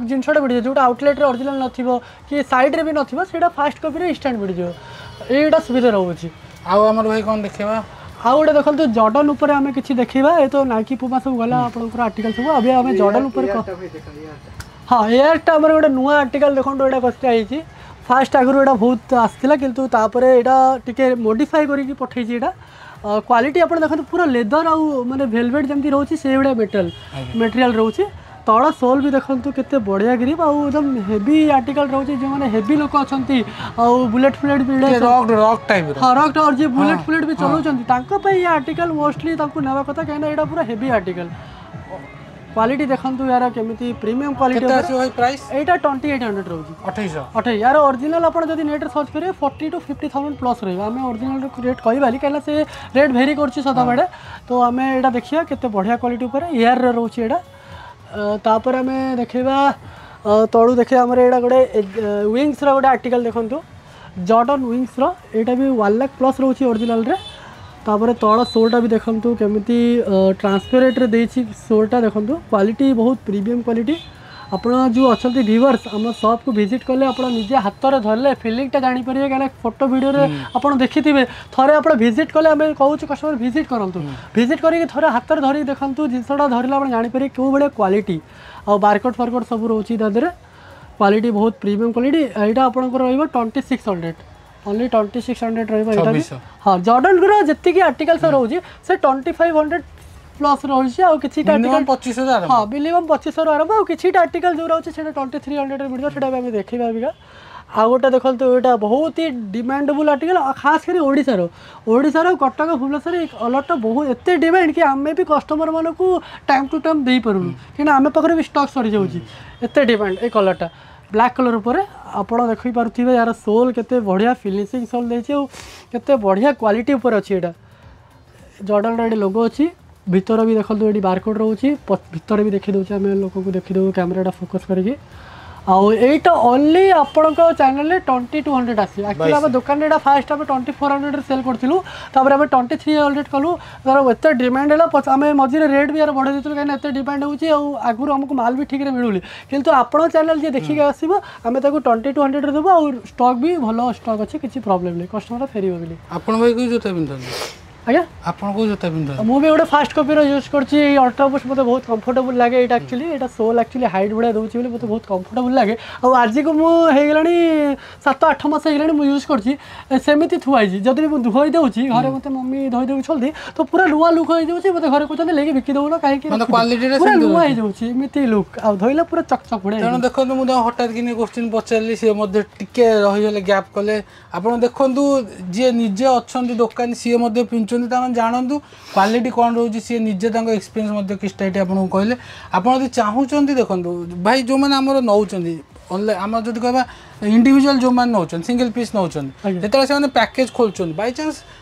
ଜିନିଷଟା ମିଳିଯିବ। ଯେଉଁଟା ଆଉଟଲେଟ୍ରେ ଅରିଜିନାଲ୍ ନଥିବ କି ସାଇଡ଼୍ରେ ବି ନଥିବ, ସେଇଟା ଫାଷ୍ଟ କପିରେ ଇନଷ୍ଟାଣ୍ଟ ମିଳିଯିବ। ଏଇଟା ସୁବିଧା ରହୁଛି। ଆଉ ଆମର ଭାଇ କ'ଣ ଦେଖିବା? ଆଉ ଗୋଟେ ଦେଖନ୍ତୁ, ଜର୍ଡନ ଉପରେ ଆମେ କିଛି ଦେଖିବା। ଏ ତ ନାଇକି, ପୁମା ସବୁ ଗଲା ଆପଣଙ୍କର ଆର୍ଟିକଲ ସବୁ। ଏବେ ଆମେ ଜର୍ଡନ ଉପରେ, ହଁ, ଏୟାରଟା ଆମର ଗୋଟେ ନୂଆ ଆର୍ଟିକଲ ଦେଖନ୍ତୁ, ଏଇଟା କଷ୍ଟା ହେଇଛି। ଫାଷ୍ଟ ଆଗରୁ ଏଇଟା ବହୁତ ଆସିଥିଲା, କିନ୍ତୁ ତାପରେ ଏଇଟା ଟିକେ ମୋଡ଼ିଫାଏ କରିକି ପଠେଇଛି। ଏଇଟା କ୍ୱାଲିଟି ଆପଣ ଦେଖନ୍ତୁ, ପୁରା ଲେଦର ଆଉ ମାନେ ଭେଲଭେଟ୍ ଯେମିତି ରହୁଛି, ସେଇଭଳିଆ ମେଟେରିଆଲ୍ ରହୁଛି। ତଳ ସୋଲ୍ ବି ଦେଖନ୍ତୁ କେତେ ବଢ଼ିଆ ଗ୍ରିପ୍, ଆଉ ଏକଦମ ହେଭି ଆର୍ଟିକଲ ରହୁଛି। ଯେଉଁମାନେ ହେଭି ଲୋକ ଅଛନ୍ତି ଆଉ ବୁଲେଟ୍ ଫୁଲେଟ୍ ବି ରକ୍ ଟାଇପ୍ର। ହଁ, ରକ୍, ଯିଏ ବୁଲେଟ୍ ଫୁଲେଟ୍ ବି ଚଲାଉଛନ୍ତି, ତାଙ୍କ ପାଇଁ ଏ ଆର୍ଟିକଲ ମୋଷ୍ଟଲି ତାଙ୍କୁ ନେବା କଥା, କାହିଁକିନା ଏଇଟା ପୁରା ହେଭି ଆର୍ଟିକଲ। କ୍ୱାଲିଟି ଦେଖନ୍ତୁ ୟାର କେମିତି ପ୍ରିମିୟମ୍ କ୍ୱାଲିଟି। କେତେ ଆସିବ ଭାଇ ପ୍ରାଇସ୍? ଏଇଟା 2800 ରହୁଛି। 2800? 28। ୟାର ଅରିଜିନାଲ୍ ଆପଣ ଯଦି ନେଟ୍ରେ ସର୍ଚ୍ଚ କରିବେ, 40 ଟୁ 50 ଥାଉଜେଣ୍ଡ ପ୍ଲସ୍ ରହିବ। ଆମେ ଅରିଜିନାଲ୍ ରେଟ୍ କହିବାନି, କାହିଁକିନା ସେ ରେଟ୍ ଭେରି କରୁଛି ସଦାବେଳେ। ତ ଆମେ ଏଇଟା ଦେଖିବା କେତେ ବଢ଼ିଆ କ୍ୱାଲିଟି ଉପରେ ଏୟାରରେ ରହୁଛି ଏଇଟା। ତାପରେ ଆମେ ଦେଖିବା, ତଳୁ ଦେଖିବା, ଆମର ଏଇଟା ଗୋଟେ ୱିଙ୍ଗସର ଗୋଟେ ଆର୍ଟିକଲ ଦେଖନ୍ତୁ, ଜର୍ଡନ ୱିଙ୍ଗସର। ଏଇଟା ବି 1 ଲାଖ ପ୍ଲସ୍ ରହୁଛି ଅରିଜିନାଲରେ। ତାପରେ ତଳ ସୋଲ୍ଟା ବି ଦେଖନ୍ତୁ କେମିତି ଟ୍ରାନ୍ସପେରେଣ୍ଟରେ ଦେଇଛି ସୋଲ୍ଟା। ଦେଖନ୍ତୁ, କ୍ୱାଲିଟି ବହୁତ ପ୍ରିମିୟମ୍ କ୍ୱାଲିଟି। ଆପଣ ଯେଉଁ ଅଛନ୍ତି ଭିଉଅର୍ସ, ଆମ ସପ୍କୁ ଭିଜିଟ୍ କଲେ ଆପଣ ନିଜେ ହାତରେ ଧରିଲେ ଫିଲିଂଟା ଜାଣିପାରିବେ, କାହିଁକିନା ଫଟୋ ଭିଡ଼ିଓରେ ଆପଣ ଦେଖିଥିବେ। ଥରେ ଆପଣ ଭିଜିଟ୍ କଲେ, ଆମେ କହୁଛୁ କଷ୍ଟମର ଭିଜିଟ୍ କରନ୍ତୁ, ଭିଜିଟ୍ କରିକି ଥରେ ହାତରେ ଧରିକି ଦେଖନ୍ତୁ। ଜିନିଷଟା ଧରିଲେ ଆପଣ ଜାଣିପାରିବେ କେଉଁ ଭଳିଆ କ୍ୱାଲିଟି। ଆଉ ବାରକୋଡ଼ ଫାରକୋଡ଼ ସବୁ ରହୁଛି ତା ଦେହରେ। କ୍ୱାଲିଟି ବହୁତ ପ୍ରିମିୟମ୍ କ୍ୱାଲିଟି। ଏଇଟା ଆପଣଙ୍କର ରହିବ 2600, ଓନ୍ଲି 2600 ରହିବ ଏଇଟା ବି। 2600। ହଁ, ଜର୍ଡନର ଯେତିକି ଆର୍ଟିକଲ ସବୁ ରହୁଛି, ସେ 2500 ପ୍ଲସ୍ ରହୁଛି। ଆଉ କିଛିଟା ଆର୍ଟିକଲ ମିନିମମ୍ 2500 ଆରମ୍ଭ। ହଁ, ମିନିମମ୍ 2500ରୁ ଆରମ୍ଭ। ଆଉ କିଛିଟା ଆର୍ଟିକଲ ଯେଉଁ ରହୁଛି, ସେଇଟା 2300ରେ ମିଳିବ, ସେଇଟା ବି ଆମେ ଦେଖିବା ଅବିକା। ଆଉ ଗୋଟେ ଦେଖନ୍ତୁ, ଏଇଟା ବହୁତ ହି ଡିମାଣ୍ଡେବୁଲ୍ ଆର୍ଟିକଲ, ଖାସ କରି ଓଡ଼ିଶାର କଟକ, ଭୁବନେଶ୍ୱର। ଏଇ କଲର୍ଟା ବହୁତ ଏତେ ଡିମାଣ୍ଡ କି ଆମେ ବି କଷ୍ଟମରମାନଙ୍କୁ ଟାଇମ୍ ଟୁ ଟାଇମ୍ ଦେଇପାରୁନୁ, କାହିଁକିନା ଆମ ପାଖରେ ବି ଷ୍ଟକ୍ ସରିଯାଉଛି, ଏତେ ଡିମାଣ୍ଡ। ଏଇ କଲର୍ଟା ବ୍ଲାକ୍ କଲର୍ ଉପରେ ଆପଣ ଦେଖିପାରୁଥିବେ, ୟାର ସୋଲ୍ କେତେ ବଢ଼ିଆ ଫିନିସିଂ ସୋଲ୍ ଦେଇଛି ଆଉ କେତେ ବଢ଼ିଆ କ୍ୱାଲିଟି ଉପରେ ଅଛି ଏଇଟା। ଜର୍ଡନର ଏଠି ଲୋଗୋ ଅଛି। ଭିତର ବି ଦେଖନ୍ତୁ, ଏଠି ବାରକୋଡ଼ ରହୁଛି। ଭିତରେ ବି ଦେଖିଦେଉଛି, ଆମେ ଲୋକଙ୍କୁ ଦେଖିଦେବୁ କ୍ୟାମେରାଟା ଫୋକସ୍ କରିକି। ଆଉ ଏଇଟା ଓନ୍ଲି ଆପଣଙ୍କ ଚ୍ୟାନେଲରେ 2200 ଆସିବ। ଆକ୍ଚୁଆଲି ଆମ ଦୋକାନରେ ଏଇଟା ଫାଷ୍ଟ ଆମେ 2400ରେ ସେଲ୍ କରୁଥିଲୁ, ତାପରେ ଆମେ 2300 କଲୁ। ତାର ଏତେ ଡିମାଣ୍ଡ ହେଲା, ଆମେ ମଝିରେ ରେଟ୍ ବି ୟାର ବଢ଼େଇ ଦେଇଥିଲୁ, କାହିଁକିନା ଏତେ ଡିମାଣ୍ଡ ହେଉଛି ଆଉ ଆଗରୁ ଆମକୁ ମାଲ ବି ଠିକ୍ରେ ମିଳୁନି। କିନ୍ତୁ ଆପଣଙ୍କ ଚ୍ୟାନେଲ୍ ଯିଏ ଦେଖିକି ଆସିବ, ଆମେ ତାକୁ 2200ରେ ଦେବୁ। ଆଉ ଷ୍ଟକ୍ ବି ଭଲ ଷ୍ଟକ୍ ଅଛି, କିଛି ପ୍ରୋବ୍ଲେମ୍ ନାହିଁ, କଷ୍ଟମର ଫେରିବ ବୋଲି। ଆପଣ ଭାଇ କେଉଁ ଜୋତା ପିନ୍ଧନ୍ତି? ଆଜ୍ଞା। ଆପଣ କୋଉ ଜୋତା ପିନ୍ଧନ୍ତି? ମୁଁ ବି ଗୋଟେ ଫାଷ୍ଟ କପିର ୟୁଜ୍ କରୁଛି। ଏଇ ଅଲ୍ଟ୍ରା ବୁଷ୍ଟ ମୋତେ ବହୁତ କମ୍ଫର୍ଟେବୁଲ୍ ଲାଗେ। ଏଇଟା ଆକ୍ଚୁଆଲି ଏଇଟା ସୋଲ୍ ଆକ୍ଚୁଆଲି ହାଇଟ୍ ଭଳିଆ ଦେଉଛି ବୋଲି ମୋତେ ବହୁତ କମ୍ଫର୍ଟେବୁଲ୍ ଲାଗେ। ଆଉ ଆଜିକୁ ମୁଁ ହେଇଗଲାଣି 7-8 ମାସ ହେଇଗଲାଣି ମୁଁ ୟୁଜ୍ କରୁଛି, ସେମିତି ଥୁଆ ହେଇଛି। ଯଦି ବି ମୁଁ ଧୋଇ ଦେଉଛି ଘରେ, ମୋତେ ମମି ଧୋଇ ଦେଉଛନ୍ତି ତ ପୁରା ନୂଆ ଲୁକ୍ ହେଇଯାଉଛି। ମୋତେ ଘରେ କହୁଛନ୍ତି, ନେଇକି ବିକି ଦେଉନ କାହିଁକି? ମାନେ quality ଟା ପୁରା ସେମିତି ନୂଆ ହେଇଯାଉଛି ଏମିତି ଲୁକ୍, ଆଉ ଧୋଇଲେ ପୁରା ଚକ୍ ଚକ୍ ଭଳିଆ। ତେଣୁ ଦେଖନ୍ତୁ, ମୁଁ ତାଙ୍କୁ ହଠାତ୍ କିନି କୋଶ୍ଚିନ୍ ପଚାରିଲି, ସିଏ ମଧ୍ୟ ଟିକେ ରହିଗଲେ, ଗ୍ୟାପ୍ କଲେ। ଆପଣ ଦେଖନ୍ତୁ, ଯିଏ ନିଜେ ଅଛନ୍ତି ଦୋକାନୀ, ସିଏ ମଧ୍ୟ ପିନ୍ଧୁଛନ୍ତି, ତାମାନେ ଜାଣନ୍ତୁ କ୍ୱାଲିଟି କ'ଣ ରହୁଛି। ସିଏ ନିଜେ ତାଙ୍କ ଏକ୍ସପିରିଏନ୍ସ ମଧ୍ୟ କିଛିଟା ଏଠି ଆପଣଙ୍କୁ କହିଲେ। ଆପଣ ଯଦି ଚାହୁଁଛନ୍ତି, ଦେଖନ୍ତୁ ଭାଇ, ଯେଉଁମାନେ ଆମର ନେଉଛନ୍ତି ଅନଲାଇନ୍, ଆମର ଯଦି କହିବା ଇଣ୍ଡିଭିଜୁଆଲ୍ ଯେଉଁମାନେ ନେଉଛନ୍ତି, ସିଙ୍ଗଲ ପିସ୍ ନେଉଛନ୍ତି, ଯେତେବେଳେ ସେମାନେ ପ୍ୟାକେଜ୍ ଖୋଲୁଛନ୍ତି, ବାଇଚାନ୍ସ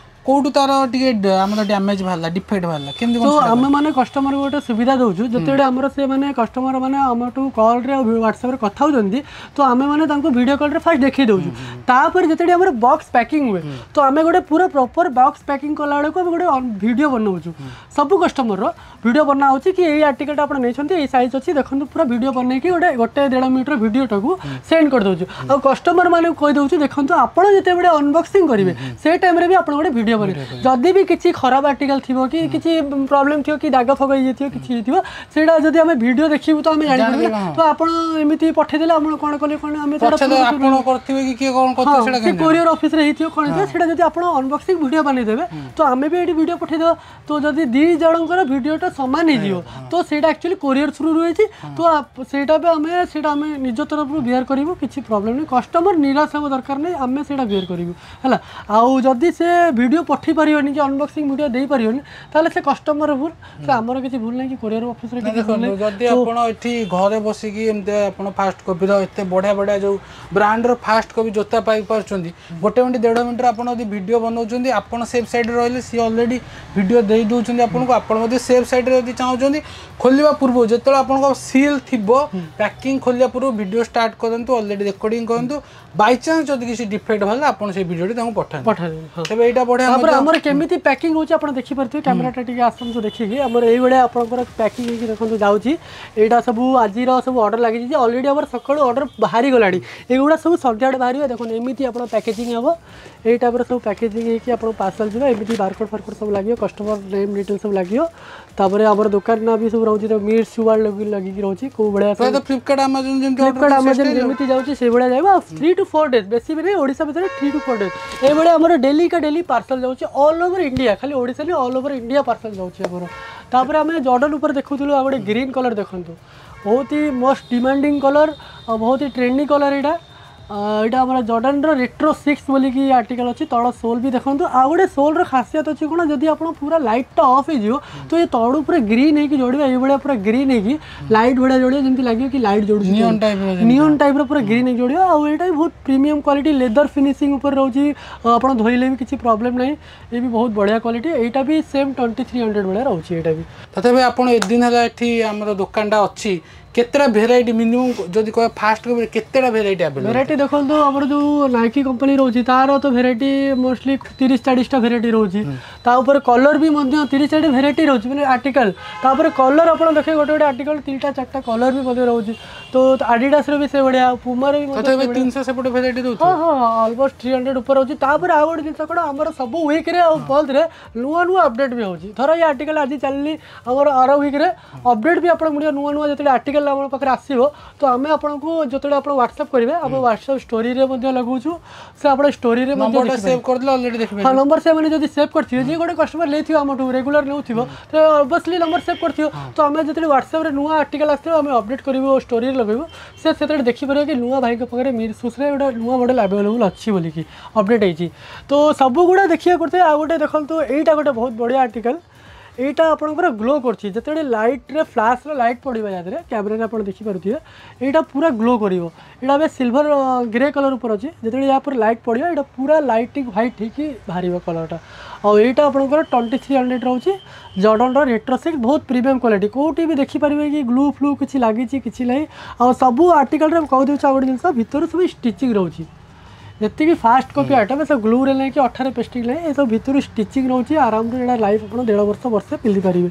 କେଉଁଠୁ ତାର ଟିକେ ଆମର ଡ୍ୟାମେଜ୍ ବାହାରିଲା, ଡିଫେକ୍ଟ ବାହାରିଲା, କେମିତି ତ କ'ଣ ସେଟା? ଆମେ ମାନେ କଷ୍ଟମରକୁ ଗୋଟେ ସୁବିଧା ଦେଉଛୁ। ଯେତେବେଳେ ଆମର ସେମାନେ କଷ୍ଟମର ମାନେ ଆମଠୁ କଲ୍ରେ ଆଉ ହ୍ୱାଟ୍ସଆପ୍ରେ କଥା ହେଉଛନ୍ତି, ତ ଆମେ ମାନେ ତାଙ୍କୁ ଭିଡ଼ିଓ କଲ୍ରେ ଫାଷ୍ଟ ଦେଖେଇ ଦେଉଛୁ। ତାପରେ ଯେତେବେଳେ ଆମର ବକ୍ସ ପ୍ୟାକିଂ ହୁଏ, ତ ଆମେ ଗୋଟେ ପୁରା ପ୍ରପର ବକ୍ସ ପ୍ୟାକିଂ କଲା ବେଳକୁ ଆମେ ଗୋଟେ ଭିଡ଼ିଓ ବନାଉଛୁ। ସବୁ କଷ୍ଟମରର ଭିଡ଼ିଓ ବନା ହେଉଛି କି ଏଇ ଆର୍ଟିକଲଟା ଆପଣ ନେଇଛନ୍ତି, ଏଇ ସାଇଜ୍ ଅଛି, ଦେଖନ୍ତୁ। ପୁରା ଭିଡ଼ିଓ ବନେଇକି ଗୋଟେ ଗୋଟେ ଦେଢ଼ ମିନିଟ୍ର ଭିଡ଼ିଓଟାକୁ ସେଣ୍ଡ କରିଦେଉଛୁ ଆଉ କଷ୍ଟମର ମାନଙ୍କୁ କହିଦେଉଛୁ, ଦେଖନ୍ତୁ, ଆପଣ ଯେତେବେଳେ ଅନବକ୍ସିଂ କରିବେ, ସେ ଟାଇମ୍ରେ ବି ଆପଣ ଗୋଟେ ଭିଡ଼ିଓ ବନେଇବେ। ଯଦି ବି କିଛି ଖରାପ ଆର୍ଟିକଲ ଥିବ କି କିଛି ପ୍ରୋବ୍ଲେମ୍ ଥିବ କି ଦାଗ ଫାଗ ହେଇଯାଇଥିବ, କିଛି ହେଇଥିବ, ସେଇଟା ଯଦି ଆମେ ଭିଡ଼ିଓ ଦେଖିବୁ ତ ଆମେ ଜାଣିପାରିବୁ ନା। ଜାଣିଦେବା, ହଁ। ତ ଆପଣ ଏମିତି ପଠେଇଦେଲେ, ଆପଣ କ'ଣ କଲେ କ'ଣ ଆମେ ସେଇଟା ପଛରେ ଆପଣ କରିଥିବେ କି କିଏ କ'ଣ କରିଥିବେ, ସେଇଟା ସେ କେମିତି? କୋରିୟର ଅଫିସରେ ହେଇଥିବ, କ'ଣ ହେଇଥିବ ସେଇଟା। ଯଦି ଆପଣ ଅନବକ୍ସିଂ ଭିଡ଼ିଓ ବନେଇଦେବେ, ତ ଆମେ ବି ଏଇଠି ଭିଡ଼ିଓ ପଠେଇଦେବା। ତ ଯଦି ଦୁଇ ଜଣଙ୍କର ଭିଡ଼ିଓଟା ସମାନ ହେଇଯିବ, ତ ସେଇଟା ଆକ୍ଚୁଆଲି କୋରିୟର ଥ୍ରୁରୁ ହେଇଛି, ତ ସେଇଟା ବି ଆମେ ନିଜ ତରଫରୁ ବିୟର କରିବୁ। କିଛି ପ୍ରୋବ୍ଲେମ୍ ନାହିଁ। କଷ୍ଟମର ନିରାଶ ହେବା ଦରକାର ନାହିଁ, ଆମେ ସେଇଟା ବିୟର କରିବୁ, ହେଲା। ଆଉ ଯଦି ସେ ଭିଡ଼ିଓ ପଠେଇ ପାରିବନି କି ଅନବକ୍ସିଂ ଭିଡ଼ିଓ ଦେଇପାରିବନି, ତାହେଲେ ସେ କଷ୍ଟମର ଭୁଲ, ସେ ଆମର କିଛି ଭୁଲ ନାହିଁ କି କୋରିୟର ଅଫିସରେ କିଛି ଭୁଲ ଦେଖନ୍ତୁ, ନାହିଁ। ଯଦି ଆପଣ ଏଠି ଘରେ ବସିକି ଏମିତି ଆପଣ ଫାଷ୍ଟ କପିର ଏତେ ବଢ଼ିଆ ବଢ଼ିଆ ଯେଉଁ ବ୍ରାଣ୍ଡର ଫାଷ୍ଟ କପି ଜୋତା ପାଇପାରୁଛନ୍ତି, ଗୋଟେ ମିନିଟ୍ ଦେଢ଼ ମିନିଟ୍ରେ ଆପଣ ଯଦି ଭିଡ଼ିଓ ବନାଉଛନ୍ତି, ଆପଣ ସେଫ୍ ସାଇଡ଼୍ରେ ରହିଲେ, ସିଏ ଅଲରେଡ଼ି ଭିଡ଼ିଓ ଦେଇ ଦେଉଛନ୍ତି ଆପଣଙ୍କୁ। ଆପଣ ମଧ୍ୟ ସେଫ୍ ସାଇଡ଼୍ରେ ଯଦି ଚାହୁଁଛନ୍ତି, ଖୋଲିବା ପୂର୍ବରୁ, ଯେତେବେଳେ ଆପଣଙ୍କ ସିଲ୍ ଥିବ, ପ୍ୟାକିଂ ଖୋଲିବା ପୂର୍ବରୁ ଭିଡ଼ିଓ ଷ୍ଟାର୍ଟ କରନ୍ତୁ, ଅଲରେଡ଼ି ରେକର୍ଡ଼ିଂ କରନ୍ତୁ। ବାଇଚାନ୍ସ ଯଦି କିଛି ଡିଫେକ୍ଟ ବାହାରିଲା, ଆପଣ ସେଇ ଭିଡ଼ିଓଟି ତାଙ୍କୁ ପଠାନ୍ତୁ। ପଠାଦେବେ, ହଁ। ତେବେ ଏଇଟା ବଢ଼ିଆ ତାପରେ ମଧ୍ୟ। ଆମର କେମିତି ପ୍ୟାକିଂ ହେଉଛି ଆପଣ ଦେଖିପାରୁଥିବେ। କ୍ୟାମେରାଟା ଟିକେ ଆସନ୍ତୁ ଦେଖିକି। ଆମର ଏଇଭଳିଆ ଆପଣଙ୍କର ପ୍ୟାକିଂ ହେଇକି ଦେଖନ୍ତୁ ଯାଉଛି। ଏଇଟା ସବୁ ଆଜିର ସବୁ ଅର୍ଡ଼ର ଲାଗିଛି ଯେ ଅଲରେଡ଼ି ଆମର ସକାଳୁ ଅର୍ଡ଼ର ବାହାରି ଗଲାଣି। ଏଗୁଡ଼ା ସବୁ ସନ୍ଧ୍ୟାବେଳେ ବାହାରିବ। ଦେଖନ୍ତୁ, ଏମିତି ଆପଣ ପ୍ୟାକେଜିଂ ହେବ। ଏଇ ଟାଇପ୍ର ସବୁ ପ୍ୟାକେଜିଂ ହେଇକି ଆପଣ ପାର୍ସଲ୍ ଯିବ। ଏମିତି ବାରକୋଡ଼ ଫାରକୋଡ଼ ସବୁ ଲାଗିବ, କଷ୍ଟମର ନେମ୍ ଡିଟେଲ୍ ସବୁ ଲାଗିବ। ତାପରେ ଆମର ଦୋକାନ ନାଁ ବି ସବୁ ରହୁଛି, ମିର୍ ସୁୱାର୍ଡ ଲାଗିକି ରହୁଛି କେଉଁ ଭଳିଆ ସବୁ। ପ୍ରାୟତଃ ଫ୍ଲିପକାର୍ଟ, ଆମାଜନ ଯେମିତି ଫ୍ଲିପକାର୍ଟ, ଅର୍ଡ଼ର ଆମାଜନ ଯେମିତି ଯାଉଛି, ସେଇଭଳିଆ ଯିବ। ଆଉ 3 ଟୁ 4 ଡେଜ୍, ବେଶୀ ବି ନାହିଁ, ଓଡ଼ିଶା ଭିତରେ 3 ଟୁ 4 ଡେଜ୍ ଏଇଭଳିଆ ଆମର ଡେଲି କା ଡେଲି ପାର୍ସଲ୍ ଯାଉଛି ଅଲ୍ ଓଭର ଇଣ୍ଡିଆ। ଖାଲି ଓଡ଼ିଶା ନୁହେଁ, ଅଲ୍ ଓଭର ଇଣ୍ଡିଆ ପାର୍ସଲ୍ ଯାଉଛି ଆମର। ତାପରେ ଆମେ ଜର୍ଡନ ଉପରେ ଦେଖୁଥିଲୁ, ଆଉ ଗୋଟେ ଗ୍ରୀନ୍ କଲର୍ ଦେଖନ୍ତୁ। ବହୁତ ହି ମୋଷ୍ଟ ଡିମାଣ୍ଡିଂ କଲର୍ ଆଉ ବହୁତ ହି ଟ୍ରେଣ୍ଡି କଲର୍ ଏଇଟା। ଏଇଟା ଆମର ଜର୍ଡନର ରେଟ୍ରୋ 6 ବୋଲିକି ଆର୍ଟିକଲ୍ ଅଛି। ତଳ ସୋଲ୍ ବି ଦେଖନ୍ତୁ। ଆଉ ଗୋଟେ ସୋଲ୍ର ଖାସିୟତ ଅଛି କ'ଣ, ଯଦି ଆପଣ ପୁରା ଲାଇଟ୍ଟା ଅଫ୍ ହେଇଯିବ, ତ ଏ ତଳୁ ପୁରା ଗ୍ରୀନ୍ ହେଇକି ଜଳିବ। ଏଇଭଳିଆ ପୁରା ଗ୍ରୀନ୍ ହେଇକି ଲାଇଟ୍ ଭଳିଆ ଜଳିବ, ଯେମିତି ଲାଗିବ କି ଲାଇଟ୍ ଜଳୁଛି। Neon type ର ଯେମିତି। ନିଅନ୍ ଟାଇପ୍ର ପୁରା ଗ୍ରୀନ୍ ହେଇକି ଜଳିବ। ଆଉ ଏଇଟା ବି ବହୁତ ପ୍ରିମିୟମ୍ କ୍ୱାଲିଟି, ଲେଦର ଫିନିସିଂ ଉପରେ ରହୁଛି। ଆଉ ଆପଣ ଧୋଇଲେ ବି କିଛି ପ୍ରୋବ୍ଲେମ୍ ନାହିଁ। ଏ ବି ବହୁତ ବଢ଼ିଆ କ୍ୱାଲିଟି। ଏଇଟା ବି ସେମ୍ 2300 ଭଳିଆ ରହୁଛି ଏଇଟା ବି। ତଥାପି ଆପଣ ଏତେ ଦିନ ହେଲା ଏଠି ଆମର ଦୋକାନଟା ଅଛି, କେତେଟା ଭେରାଇଟି ମିନିମମ୍ ଯଦି କହିବା, ଫାଷ୍ଟ କପିରେ କେତେଟା ଭେରାଇଟି ଆଭେଲେବଲ୍? ଭେରାଇଟି ଦେଖନ୍ତୁ, ଆମର ଯେଉଁ ନାଇକି କମ୍ପାନୀ ରହୁଛି, ତାର ତ ଭେରାଇଟି ମୋଷ୍ଟଲି 30-40ଟା ଭେରାଇଟି ରହୁଛି। ତା ଉପରେ କଲର୍ ବି ମଧ୍ୟ 30-40 ଭେରାଇଟି ରହୁଛି, ମାନେ ଆର୍ଟିକଲ୍। ତାପରେ କଲର୍ ଆପଣ ଦେଖିବେ, ଗୋଟେ ଗୋଟେ ଆର୍ଟିକଲ୍ ତିନିଟା ଚାରିଟା କଲର୍ ବି ମଧ୍ୟ ରହୁଛି। ତ ଆଡ଼ିଡାସର ବି ସେଇଭଳିଆ, ପୁମାର ବି ମଧ୍ୟ। ତଥାପି 300 ସେପଟେ ଭେରାଇଟି ରହୁଛି? ହଁ, ଅଲମୋଷ୍ଟ 300 ଉପରେ ରହୁଛି। ତାପରେ ଆଉ ଗୋଟେ ଜିନିଷ କ'ଣ, ଆମର ସବୁ ୱିକ୍ରେ ଆଉ ମନ୍ଥରେ ନୂଆ ନୂଆ ଅପଡେଟ୍ ବି ହେଉଛି। ଧର ଏଇ ଆର୍ଟିକଲ୍ ଆଜି ଚାଲିଲି, ଆମର ଆର ୱିକ୍ରେ ଅପଡେଟ୍ ବି ଆପଣଙ୍କୁ ମିଳିବ। ନୂଆ ନୂଆ ଯେତେବେଳେ ଆର୍ଟିକଲ୍ ଆମ ପାଖରେ ଆସିବ, ତ ଆମେ ଆପଣଙ୍କୁ ଯେତେବେଳେ ଆପଣ ହ୍ୱାଟ୍ସଆପ୍ କରିବେ, ଆମ ହ୍ୱାଟ୍ସଆପ୍ ଷ୍ଟୋରିରେ ମଧ୍ୟ ଲଗାଉଛୁ। ସେ ଆପଣ ଷ୍ଟୋରିରେ ମଧ୍ୟ ନମ୍ବରଟା ଦେଖିପାରିବେ। ସେଭ୍ କରିଦେଲେ ଅଲରେଡ଼ି ଦେଖିପାରିବେ। ହଁ, ନମ୍ବର ସେମାନେ ଯଦି ସେଭ୍ କରିଥିବେ, ଯିଏ ଗୋଟେ କଷ୍ଟମର ନେଇଥିବ ଆମଠୁ, ରେଗୁଲାର ନେଉଥିବ, ତ ଅବଭିୟସଲି ନମ୍ବର ସେଭ୍ କରିଥିବ। ତ ଆମେ ଯେତେବେଳେ ହ୍ୱାଟ୍ସଆପ୍ରେ ନୂଆ ଆର୍ଟିକଲ୍ ଆସିଥିବ, ଆମେ ଅପଡେଟ୍ କରିବୁ, ଷ୍ଟୋରିରେ ଲଗାଇବୁ, ସେ ସେତେବେଳେ ଦେଖିପାରିବ କି ନୂଆ ଭାଇଙ୍କ ପାଖରେ ମିର୍ ସୁସ୍ରେ ଗୋଟେ ନୂଆ ମଡ଼େଲ୍ ଆଭେଲେବୁଲ୍ ଅଛି ବୋଲିକି ଅପଡେଟ୍ ହେଇଛି। ତ ସବୁଗୁଡ଼ା ଦେଖିବାକୁ କରୁଥିବେ। ଆଉ ଗୋଟେ ଦେଖନ୍ତୁ, ଏଇଟା ଗୋଟେ ବହୁତ ବଢ଼ିଆ ଆର୍ଟିକଲ୍। ଏଇଟା ଆପଣଙ୍କର ଗ୍ଲୋ କରୁଛି ଯେତେବେଳେ ଲାଇଟ୍ରେ, ଫ୍ଲାସ୍ର ଲାଇଟ୍ ପଡ଼ିବ ୟା ଦେହରେ। କ୍ୟାମେରାରେ ଆପଣ ଦେଖିପାରୁଥିବେ, ଏଇଟା ପୁରା ଗ୍ଲୋ କରିବ। ଏଇଟା ଏବେ ସିଲଭର ଗ୍ରେ କଲର୍ ଉପରେ ଅଛି। ଯେତେବେଳେ ୟା ଉପରେ ଲାଇଟ୍ ପଡ଼ିବ, ଏଇଟା ପୁରା ଲାଇଟିଂ ହ୍ୱାଇଟ୍ ହେଇକି ବାହାରିବ କଲର୍ଟା। ଆଉ ଏଇଟା ଆପଣଙ୍କର 2300 ରହୁଛି, ଜର୍ଡନର ରେଟ୍ରୋ 6, ବହୁତ ପ୍ରିମିୟମ୍ କ୍ୱାଲିଟି। କେଉଁଠି ବି ଦେଖିପାରିବେ କି ଗ୍ଲୁ ଫ୍ଲୁ କିଛି ଲାଗିଛି, କିଛି ନାହିଁ। ଆଉ ସବୁ ଆର୍ଟିକଲ୍ରେ କହିଦେଉଛି ଆଉ ଗୋଟେ ଜିନିଷ, ଭିତରୁ ସବୁ ଷ୍ଟିଚିଂ ରହୁଛି। ଯେତିକି ଫାଷ୍ଟ କପି ଆଇଟମ୍, ଏସବୁ ଗ୍ଲୁରେ ନାହିଁ କି ଅଠାରେ ପେଷ୍ଟିଂ ନାହିଁ, ଏସବୁ ଭିତରୁ ଷ୍ଟିଚିଂ ରହୁଛି। ଆରାମରେ ଏଇଟା ଲାଇଫ୍ ଆପଣ ଦେଢ଼ ବର୍ଷ, ବର୍ଷେ ପିନ୍ଧିପାରିବେ।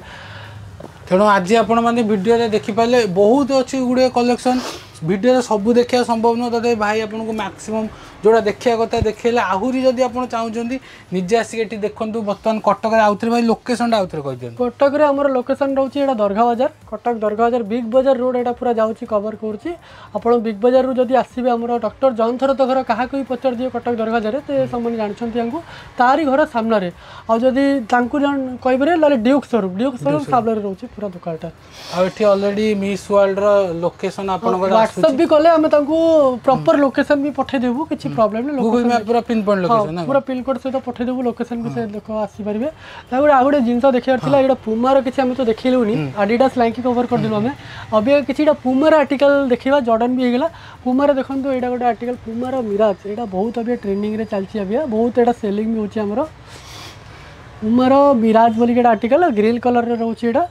ତେଣୁ ଆଜି ଆପଣମାନେ ଭିଡ଼ିଓରେ ଦେଖିପାରିଲେ, ବହୁତ ଅଛି ଗୁଡ଼ିଏ କଲେକ୍ସନ୍। ଭିଡ଼ିଓରେ ସବୁ ଦେଖିବା ସମ୍ଭବ ନୁହଁ, ତଥାପି ଭାଇ ଆପଣଙ୍କୁ ମ୍ୟାକ୍ସିମମ୍ ଯେଉଁଟା ଦେଖିବା କଥା ଦେଖେଇଲେ। ଆହୁରି ଯଦି ଆପଣ ଚାହୁଁଛନ୍ତି, ନିଜେ ଆସିକି ଏଠି ଦେଖନ୍ତୁ। ବର୍ତ୍ତମାନ କଟକରେ ଆଉଥରେ ଭାଇ ଲୋକେସନଟା ଆଉଥରେ କହିଦିଅନ୍ତୁ। କଟକରେ ଆମର ଲୋକେସନ୍ ରହୁଛି ଏଇଟା ଦରଘା ବଜାର, କଟକ ଦରଘା ବଜାର, ବିଗ୍ ବଜାର ରୋଡ଼ ଏଇଟା ପୁରା ଯାଉଛି, କଭର କରୁଛି। ଆପଣ ବିଗ୍ ବଜାରରୁ ଯଦି ଆସିବେ, ଆମର ଡକ୍ଟର ଜୟନ୍ତ ଘର କାହାକୁ ବି ପଚାରି ଦିଏ କଟକ ଦରଘା ବଜାରରେ, ସେ ସେମାନେ ଜାଣିଛନ୍ତି ତାଙ୍କୁ, ତାରି ଘର ସାମ୍ନାରେ। ଆଉ ଯଦି ତାଙ୍କୁ କହିପାରିବେ, ନହେଲେ ଡ୍ୟୁକ୍ ସୋରୁମ୍, ଡ୍ୟୁକ୍ ସୋରୁମ୍ ସାମ୍ନାରେ ରହୁଛି ପୁରା ଦୋକାନଟା। ଆଉ ଏଠି ଅଲରେଡି ମିସ୍ ୱାର୍ଲଡର ଲୋକେସନ ଆପଣଙ୍କର ହ୍ୱାଟ୍ସଆପ୍ ବି କଲେ ଆମେ ତାଙ୍କୁ ପ୍ରପର ଲୋକେସନ୍ ବି ପଠେଇଦେବୁ, କିଛି ପ୍ରୋବ୍ଲେମ୍ ନାହିଁ। ଗୁଗଲ ମ୍ୟାପ୍ ପୁରା ପିନ୍ ପଏଣ୍ଟ ଲୋକେସନ। ପୁରା ପିନ୍ କୋଡ୍ ସହିତ ପଠେଇଦେବୁ ଲୋକେସନ୍ ବି, ସେ ଲୋକ ଆସିପାରିବେ। ତାପରେ ଆଉ ଗୋଟେ ଜିନିଷ ଦେଖିବାର ଥିଲା, ଏଇଟା ପୁମାର କିଛି ଆମେ ତ ଦେଖିଲୁନି, ଆଡିଡାସ୍ ନାଇକି କଭର କରିଦେଲୁ ଆମେ। ଅବିକା କିଛି ଏଇଟା ପୁମାର ଆର୍ଟିକଲ ଦେଖିବା, ଜର୍ଡନ ବି ହେଇଗଲା। ପୁମାର ଦେଖନ୍ତୁ, ଏଇଟା ଗୋଟେ ଆର୍ଟିକଲ ପୁମାର ମିରାଜ। ଏଇଟା ବହୁତ ଅବିକା ଟ୍ରେଣ୍ଡିଂରେ ଚାଲିଛି, ଅବିକା ବହୁତ ଏଇଟା ସେଲିଂ ବି ହେଉଛି। ଆମର ପୁମାର ମିରାଜ ବୋଲିକି ଏଇଟା ଆର୍ଟିକଲ, ଗ୍ରୀନ୍ କଲର୍ରେ ରହୁଛି ଏଇଟା।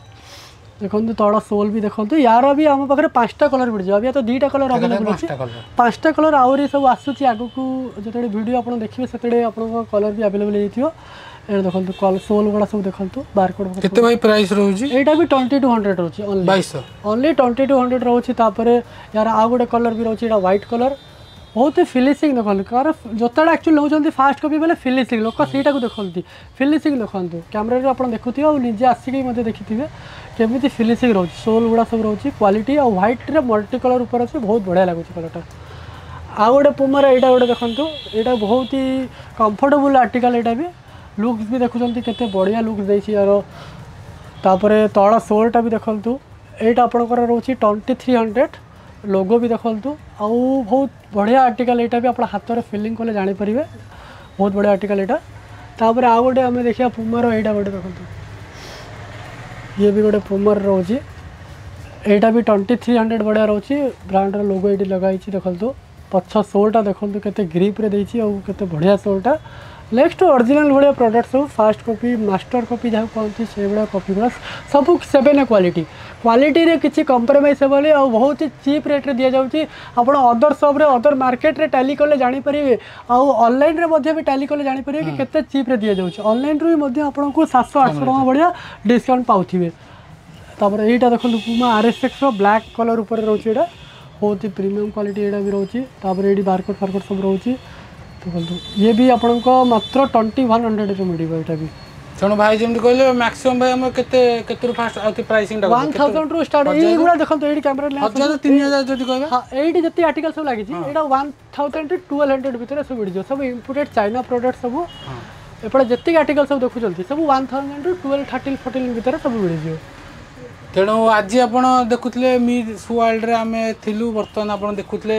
ଦେଖନ୍ତୁ, ତଳ ସୋଲ୍ ବି ଦେଖନ୍ତୁ। ୟାର ବି ଆମ ପାଖରେ 5ଟା କଲର୍ ମିଳିଯିବ। ଅବିକା ତ 2ଟା କଲର୍ ଆଭେଲେବଲ୍ ଅଛି, 5ଟା କଲର୍ ଆହୁରି ସବୁ ଆସୁଛି। ଆଗକୁ ଯେତେବେଳେ ଭିଡ଼ିଓ ଆପଣ ଦେଖିବେ, ସେତେବେଳେ ଆପଣଙ୍କ କଲର୍ ବି ଆଭେଲେବଲ୍ ହେଇଯାଇଥିବ। ଏଇଟା ଦେଖନ୍ତୁ, ସୋଲ୍ ଗୁଡ଼ା ସବୁ ଦେଖନ୍ତୁ, ବାରକୋଡ଼। କେତେ ଭାଇ ପ୍ରାଇସ୍ ରହୁଛି? ଏଇଟା ବି 2200 ରହୁଛି ଅନଲି। 2200। ଅନଲି 2200 ରହୁଛି। ତାପରେ ୟାର ଆଉ ଗୋଟେ କଲର୍ ବି ରହୁଛି, ଏଇଟା ହ୍ୱାଇଟ୍ କଲର୍। ବହୁତ ଫିନିସିଂ ଦେଖନ୍ତୁ, କାରଣ ଜୋତାଟା ଆକ୍ଚୁଆଲି ନେଉଛନ୍ତି ଫାଷ୍ଟ କପି ବେଲେ ଫିନିସିଂ ଲୋକ ସେଇଟାକୁ ଦେଖନ୍ତି। ଫିନିସିଂ ଦେଖନ୍ତୁ, କ୍ୟାମେରାରେ ଆପଣ ଦେଖୁଥିବେ ଆଉ ନିଜେ ଆସିକି ମଧ୍ୟ ଦେଖିଥିବେ କେମିତି ଫିନିସିଂ ରହୁଛି, ସୋଲ୍ ଗୁଡ଼ା ସବୁ ରହୁଛି, କ୍ୱାଲିଟି। ଆଉ ହ୍ୱାଇଟ୍ରେ ମଲ୍ଟି କଲର୍ ଉପରେ ଅଛି, ବହୁତ ବଢ଼ିଆ ଲାଗୁଛି କଲର୍ଟା। ଆଉ ଗୋଟେ ପୁମାର ଏଇଟା ଗୋଟେ ଦେଖନ୍ତୁ, ଏଇଟା ବହୁତ ହି କମ୍ଫର୍ଟେବୁଲ୍ ଆର୍ଟିକଲ୍। ଏଇଟା ବି ଲୁକ୍ସ ବି ଦେଖୁଛନ୍ତି, କେତେ ବଢ଼ିଆ ଲୁକ୍ସ ଦେଇଛି ୟାର। ତାପରେ ତଳ ସୋଲ୍ଟା ବି ଦେଖନ୍ତୁ। ଏଇଟା ଆପଣଙ୍କର ରହୁଛି 2300। ଲୋଗୋ ବି ଦେଖନ୍ତୁ। ଆଉ ବହୁତ ବଢ଼ିଆ ଆର୍ଟିକଲ୍ ଏଇଟା ବି, ଆପଣ ହାତରେ ଫିଲିଂ କଲେ ଜାଣିପାରିବେ, ବହୁତ ବଢ଼ିଆ ଆର୍ଟିକଲ୍ ଏଇଟା। ତାପରେ ଆଉ ଗୋଟେ ଆମେ ଦେଖିବା ପୁମାର, ଏଇଟା ଗୋଟେ ଦେଖନ୍ତୁ। ଇଏ ବି ଗୋଟେ ପୁମାର ରହୁଛି, ଏଇଟା ବି 2300, ବଢ଼ିଆ ରହୁଛି। ବ୍ରାଣ୍ଡର ଲୋଗୋ ଏଇଠି ଲଗା ହେଇଛି ଦେଖନ୍ତୁ। ପଛ ସୋଲ୍ଟା ଦେଖନ୍ତୁ, କେତେ ଗ୍ରିପ୍ରେ ଦେଇଛି ଆଉ କେତେ ବଢ଼ିଆ ସୋଲ୍ଟା। ନେକ୍ସଟ ଅରିଜିନାଲ୍ ଭଳିଆ ପ୍ରଡ଼କ୍ଟ ସବୁ, ଫାଷ୍ଟ କପି, ମାଷ୍ଟର କପି ଯାହାକୁ କହନ୍ତି, ସେଇଭଳିଆ କପି ଗୁଡ଼ା ସବୁ ସେଭେନ୍ କ୍ୱାଲିଟି। କ୍ୱାଲିଟିରେ କିଛି କମ୍ପ୍ରମାଇଜ୍ ହେବନି ଆଉ ବହୁତ ଚିପ୍ ରେଟ୍ରେ ଦିଆଯାଉଛି। ଆପଣ ଅଦର ସପ୍ରେ, ଅଦର ମାର୍କେଟରେ ଟାଲି କଲେ ଜାଣିପାରିବେ ଆଉ ଅନଲାଇନ୍ରେ ମଧ୍ୟ ବି ଟାଲି କଲେ ଜାଣିପାରିବେ କି କେତେ ଚିପ୍ରେ ଦିଆଯାଉଛି। ଅନଲାଇନ୍ରୁ ବି ମଧ୍ୟ ଆପଣଙ୍କୁ 700-800 ଟଙ୍କା ଭଳିଆ ଡିସକାଉଣ୍ଟ ପାଉଥିବେ। ତାପରେ ଏଇଟା ଦେଖନ୍ତୁ, ପୁମା ଆର୍ ଏସ୍ ଏକ୍ସର ବ୍ଲାକ୍ କଲର୍ ଉପରେ ରହୁଛି। ଏଇଟା ବହୁତ ପ୍ରିମିୟମ୍ କ୍ୱାଲିଟି ଏଇଟା ବି ରହୁଛି। ତାପରେ ଏଇଠି ବାରକୋଡ଼ ଫାରକୋଡ଼ ସବୁ ରହୁଛି ଦେଖନ୍ତୁ। ଇଏ ବି ଆପଣଙ୍କ ମାତ୍ର 2100ରେ ମିଳିବ ଏଇଟା ବି। ତେଣୁ ଭାଇ ଯେମିତି କହିଲେ, ମ୍ୟାକ୍ସିମମ୍ ଭାଇ ଆମର କେତେ କେତେରୁ ଫାଷ୍ଟ ଆଉ ପ୍ରାଇସିଂଟା? 1000ରୁ ଷ୍ଟାର୍ଟ। ଏଇଗୁଡ଼ା ଦେଖନ୍ତୁ, ଏଇଠି କ୍ୟାମେରା। 1000, 3000 ଯଦି କହିବା? ହଁ, ଏଇଠି ଯେତିକି ଆର୍ଟିକଲ ସବୁ ଲାଗିଛି, ଏଇଟା 1000 ଟୁ 1200 ଭିତରେ ସବୁ ମିଳିଯିବ। ସବୁ ଇମ୍ପୋର୍ଟେଡ୍ ଚାଇନା ପ୍ରଡ଼କ୍ଟ ସବୁ। ଏପଟେ ଯେତିକି ଆର୍ଟିକଲ ସବୁ ଦେଖୁଛନ୍ତି, ସବୁ 1000 ଟୁ 12, 13, 14 ଭିତରେ ସବୁ ମିଳିଯିବ। ତେଣୁ ଆଜି ଆପଣ ଦେଖୁଥିଲେ ମିସ୍ ୱାର୍ଲଡରେ ଆମେ ଥିଲୁ। ବର୍ତ୍ତମାନ ଆପଣ ଦେଖୁଥିଲେ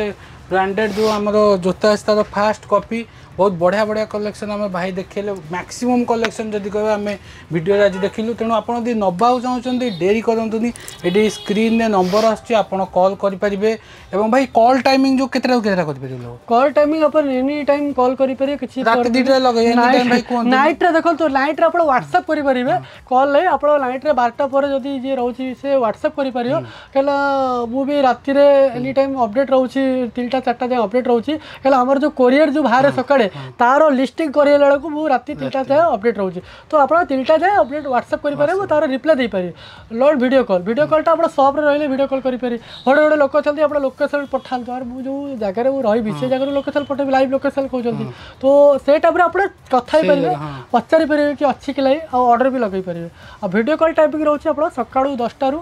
ବ୍ରାଣ୍ଡେଡ୍ ଯେଉଁ ଆମର ଜୋତା ଅଛି, ତାର ଫାଷ୍ଟ କପି। ବହୁତ ବଢ଼ିଆ ବଢ଼ିଆ କଲେକ୍ସନ୍ ଆମେ ଭାଇ ଦେଖେଇଲେ। ମ୍ୟାକ୍ସିମମ୍ କଲେକ୍ସନ୍ ଯଦି କହିବା, ଆମେ ଭିଡ଼ିଓରେ ଆଜି ଦେଖିଲୁ। ତେଣୁ ଆପଣ ଯଦି ନେବାକୁ ଚାହୁଁଛନ୍ତି, ଡେରି କରନ୍ତୁନି। ଏଠି ସ୍କ୍ରିନ୍ରେ ନମ୍ବର ଆସୁଛି, ଆପଣ କଲ୍ କରିପାରିବେ। ଏବଂ ଭାଇ, କଲ୍ ଟାଇମିଂ ଯେଉଁ କେତେଟାରୁ କେତେଟା କରିପାରିବେ ଲୋକ? କଲ୍ ଟାଇମିଂ ଆପଣ ଏନି ଟାଇମ୍ କଲ୍ କରିପାରିବେ, କିଛି ରାତି 2ଟାରେ ଲଗେଇ ଏନି ଟାଇମ୍ ଭାଇ କୁହନ୍ତୁ। ନାଇଟ୍ରେ ଦେଖନ୍ତୁ, ନାଇଟ୍ରେ ଆପଣ ହ୍ୱାଟ୍ସଆପ୍ କରିପାରିବେ, କଲ୍ ନାହିଁ। ଆପଣ ନାଇଟ୍ରେ 12ଟା ପରେ ଯଦି ଯିଏ ରହୁଛି, ସେ ହ୍ୱାଟ୍ସଆପ୍ କରିପାରିବ। କାହିଁକିନା ମୁଁ ବି ରାତିରେ ଏନି ଟାଇମ୍ ଅପଡ଼େଟ୍ ରହୁଛି, 3ଟା 4ଟା ଯାଏଁ ଅପଡ଼େଟ୍ ରହୁଛି। କାହିଁକିନା ଆମର ଯେଉଁ କୋରିୟର ଯେଉଁ ବାହାରେ ସକାଳେ, ତାର ଲିଷ୍ଟିଂ କରିଲା ବେଳକୁ ମୁଁ ରାତି 3ଟା ଯାଏଁ ଅପଡ଼େଟ୍ ରହୁଛି। ତ ଆପଣ 3ଟା ଯାଏଁ ଅପଡ଼େଟ୍ ହ୍ୱାଟ୍ସଆପ୍ କରିପାରିବେ, ମୁଁ ତାର ରିପ୍ଲାଏ ଦେଇପାରିବି। Not video call. Video କଲ୍ଟା ଆପଣ ସପ୍ରେ ରହିଲେ ଭିଡ଼ିଓ କଲ୍ କରିପାରିବେ। ଗୋଟେ ଗୋଟେ ଲୋକ ଅଛନ୍ତି, ଆପଣ ଲୋକେସନ୍ ପଠାନ୍ତୁ, ଆରେ ମୁଁ ଯେଉଁ ଜାଗାରେ ମୁଁ ରହିବି, ସେ ଜାଗାରୁ ଲୋକେସନ୍ ପଠେଇବି, ଲାଇଭ୍ ଲୋକେସନ୍ କହୁଛନ୍ତି। ତ ସେ ଟାଇପ୍ରେ ଆପଣ କଥା ହେଇପାରିବେ, ପଚାରି ପାରିବେ କି ଅଛି କି ନାହିଁ, ଆଉ ଅର୍ଡ଼ର ବି ଲଗେଇ ପାରିବେ। ଆଉ ଭିଡ଼ିଓ କଲ୍ ଟାଇପିଂ ରହୁଛି, ଆପଣ ସକାଳୁ 10ଟାରୁ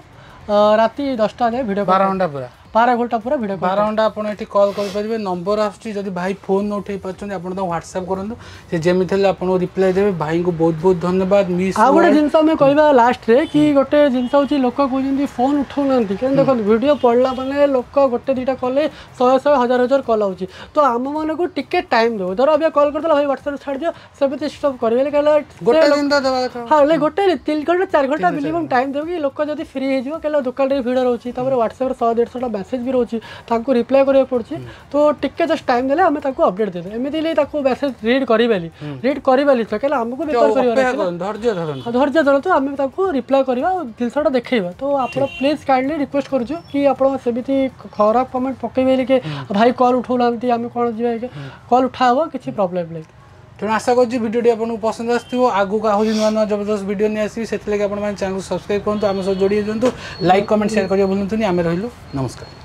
ରାତି 10ଟା ଯାଏଁ ଭିଡ଼ିଓ 12 ଘଣ୍ଟା ପୁରା। 12 ଘଣ୍ଟା ପୁରା ଭିଡ଼ିଓ। 12 ଘଣ୍ଟା ଆପଣ ଏଠି କଲ୍ କରିପାରିବେ, ନମ୍ବର ଆସୁଛି। ଯଦି ଭାଇ ଫୋନ୍ ନ ଉଠେଇ ପାରୁଛନ୍ତି, ଆପଣ ତାଙ୍କୁ ହ୍ୱାଟ୍ସଆପ୍ କରନ୍ତୁ, ସେ ଯେମିତି ହେଲେ ଆପଣଙ୍କୁ ରିପ୍ଲାଏ ଦେବେ। ଭାଇଙ୍କୁ ବହୁତ ବହୁତ ଧନ୍ୟବାଦ ମିସ୍ ଆଉ ଗୋଟେ ଜିନିଷ ଆମେ କହିବା ଲାଷ୍ଟରେ କି ଗୋଟେ ଜିନିଷ ହେଉଛି, ଲୋକ କହୁଛନ୍ତି ଫୋନ୍ ଉଠାଉନାହାନ୍ତି। କାହିଁକି ଦେଖନ୍ତୁ, ଭିଡ଼ିଓ ପଡ଼ିଲା ମାନେ ଲୋକ ଗୋଟେ ଦୁଇଟା କଲେ ଶହେ ଶହେ ହଜାର ହଜାର କଲ୍ ହେଉଛି। ତ ଆମମାନଙ୍କୁ ଟିକେ ଟାଇମ୍ ଦେବ। ଧର ଅବିକା କଲ୍ କରିଦେଲା, ଭାଇ ହ୍ୱାଟ୍ସଆପ୍ରେ ଛାଡ଼ିଦିଅ, ସେମିତି ଷ୍ଟପ୍ କରିବେନି। କାହିଁକି ଗୋଟେ ଦିନ ତ ଦେବା କଥା। ହଁ, ହେଲେ ଗୋଟେ 3 ଘଣ୍ଟା 4 ଘଣ୍ଟା ମିନିମମ୍ ଟାଇମ୍ ଦେବ କି ଲୋକ ଯଦି ଫ୍ରି ହେଇଯିବ। କାହିଁକିନା ଦୋକାନରେ ଭିଡ଼ ରହୁଛି, ତାପରେ ହ୍ୱାଟ୍ସଆପ୍ରେ 100-150ଟା ମେସେଜ୍ ବି ରହୁଛି, ତାଙ୍କୁ ରିପ୍ଲାଏ କରିବାକୁ ପଡ଼ୁଛି। ତ ଟିକେ ଜଷ୍ଟ ଟାଇମ୍ ଦେଲେ ଆମେ ତାକୁ ଅପଡ଼େଟ୍ ଦେଇଦେବୁ। ଏମିତି ହେଲେ ତାକୁ ମେସେଜ୍ ରିଡ୍ କରିବେନି, ରିଡ୍ କରିବେନି ତ, କାହିଁକିନା ଆମକୁ ବେପାର କରିବାର ଅପେକ୍ଷା ଅଛି ନା। କରନ୍ତୁ, ଧୈର୍ଯ୍ୟ ଧରନ୍ତୁ। ହଁ, ଧୈର୍ଯ୍ୟ ଧରନ୍ତୁ, ଆମେ ତାକୁ ରିପ୍ଲାଏ କରିବା ଆଉ ଜିନିଷଟା ଦେଖେଇବା। ତ ଆପଣ ପ୍ଲିଜ୍ କାଇଣ୍ଡଲି ରିକ୍ୱେଷ୍ଟ କରୁଛୁ କି ଆପଣ ସେମିତି ଖରାପ କମେଣ୍ଟ ପକେଇବେନି କି ଭାଇ କଲ୍ ଉଠାଉନାହାନ୍ତି, ଆମେ କ'ଣ ଯିବା। କଲ୍ ଉଠା ହେବ, କିଛି ପ୍ରୋବ୍ଲେମ୍ ନାହିଁ। ତେଣୁ ଆଶା କରୁଛି ଭିଡ଼ିଓଟି ଆପଣଙ୍କୁ ପସନ୍ଦ ଆସିଥିବ। ଆଗକୁ ଆହୁରି ନୂଆ ନୂଆ ଜବରଦସ୍ତ ଭିଡ଼ିଓ ନେଇ ଆସିବି, ସେଥିଲାଗି ଆପଣମାନେ ଚ୍ୟାନେଲକୁ ସବସ୍କ୍ରାଇବ୍ କରନ୍ତୁ, ଆମ ସହ ଯୋଡ଼ି ହେଇଯାନ୍ତୁ। ଲାଇକ୍, କମେଣ୍ଟ, ସେୟାର କରିବା ଭୁଲନ୍ତୁନି। ଆମେ ରହିଲୁ, ନମସ୍କାର।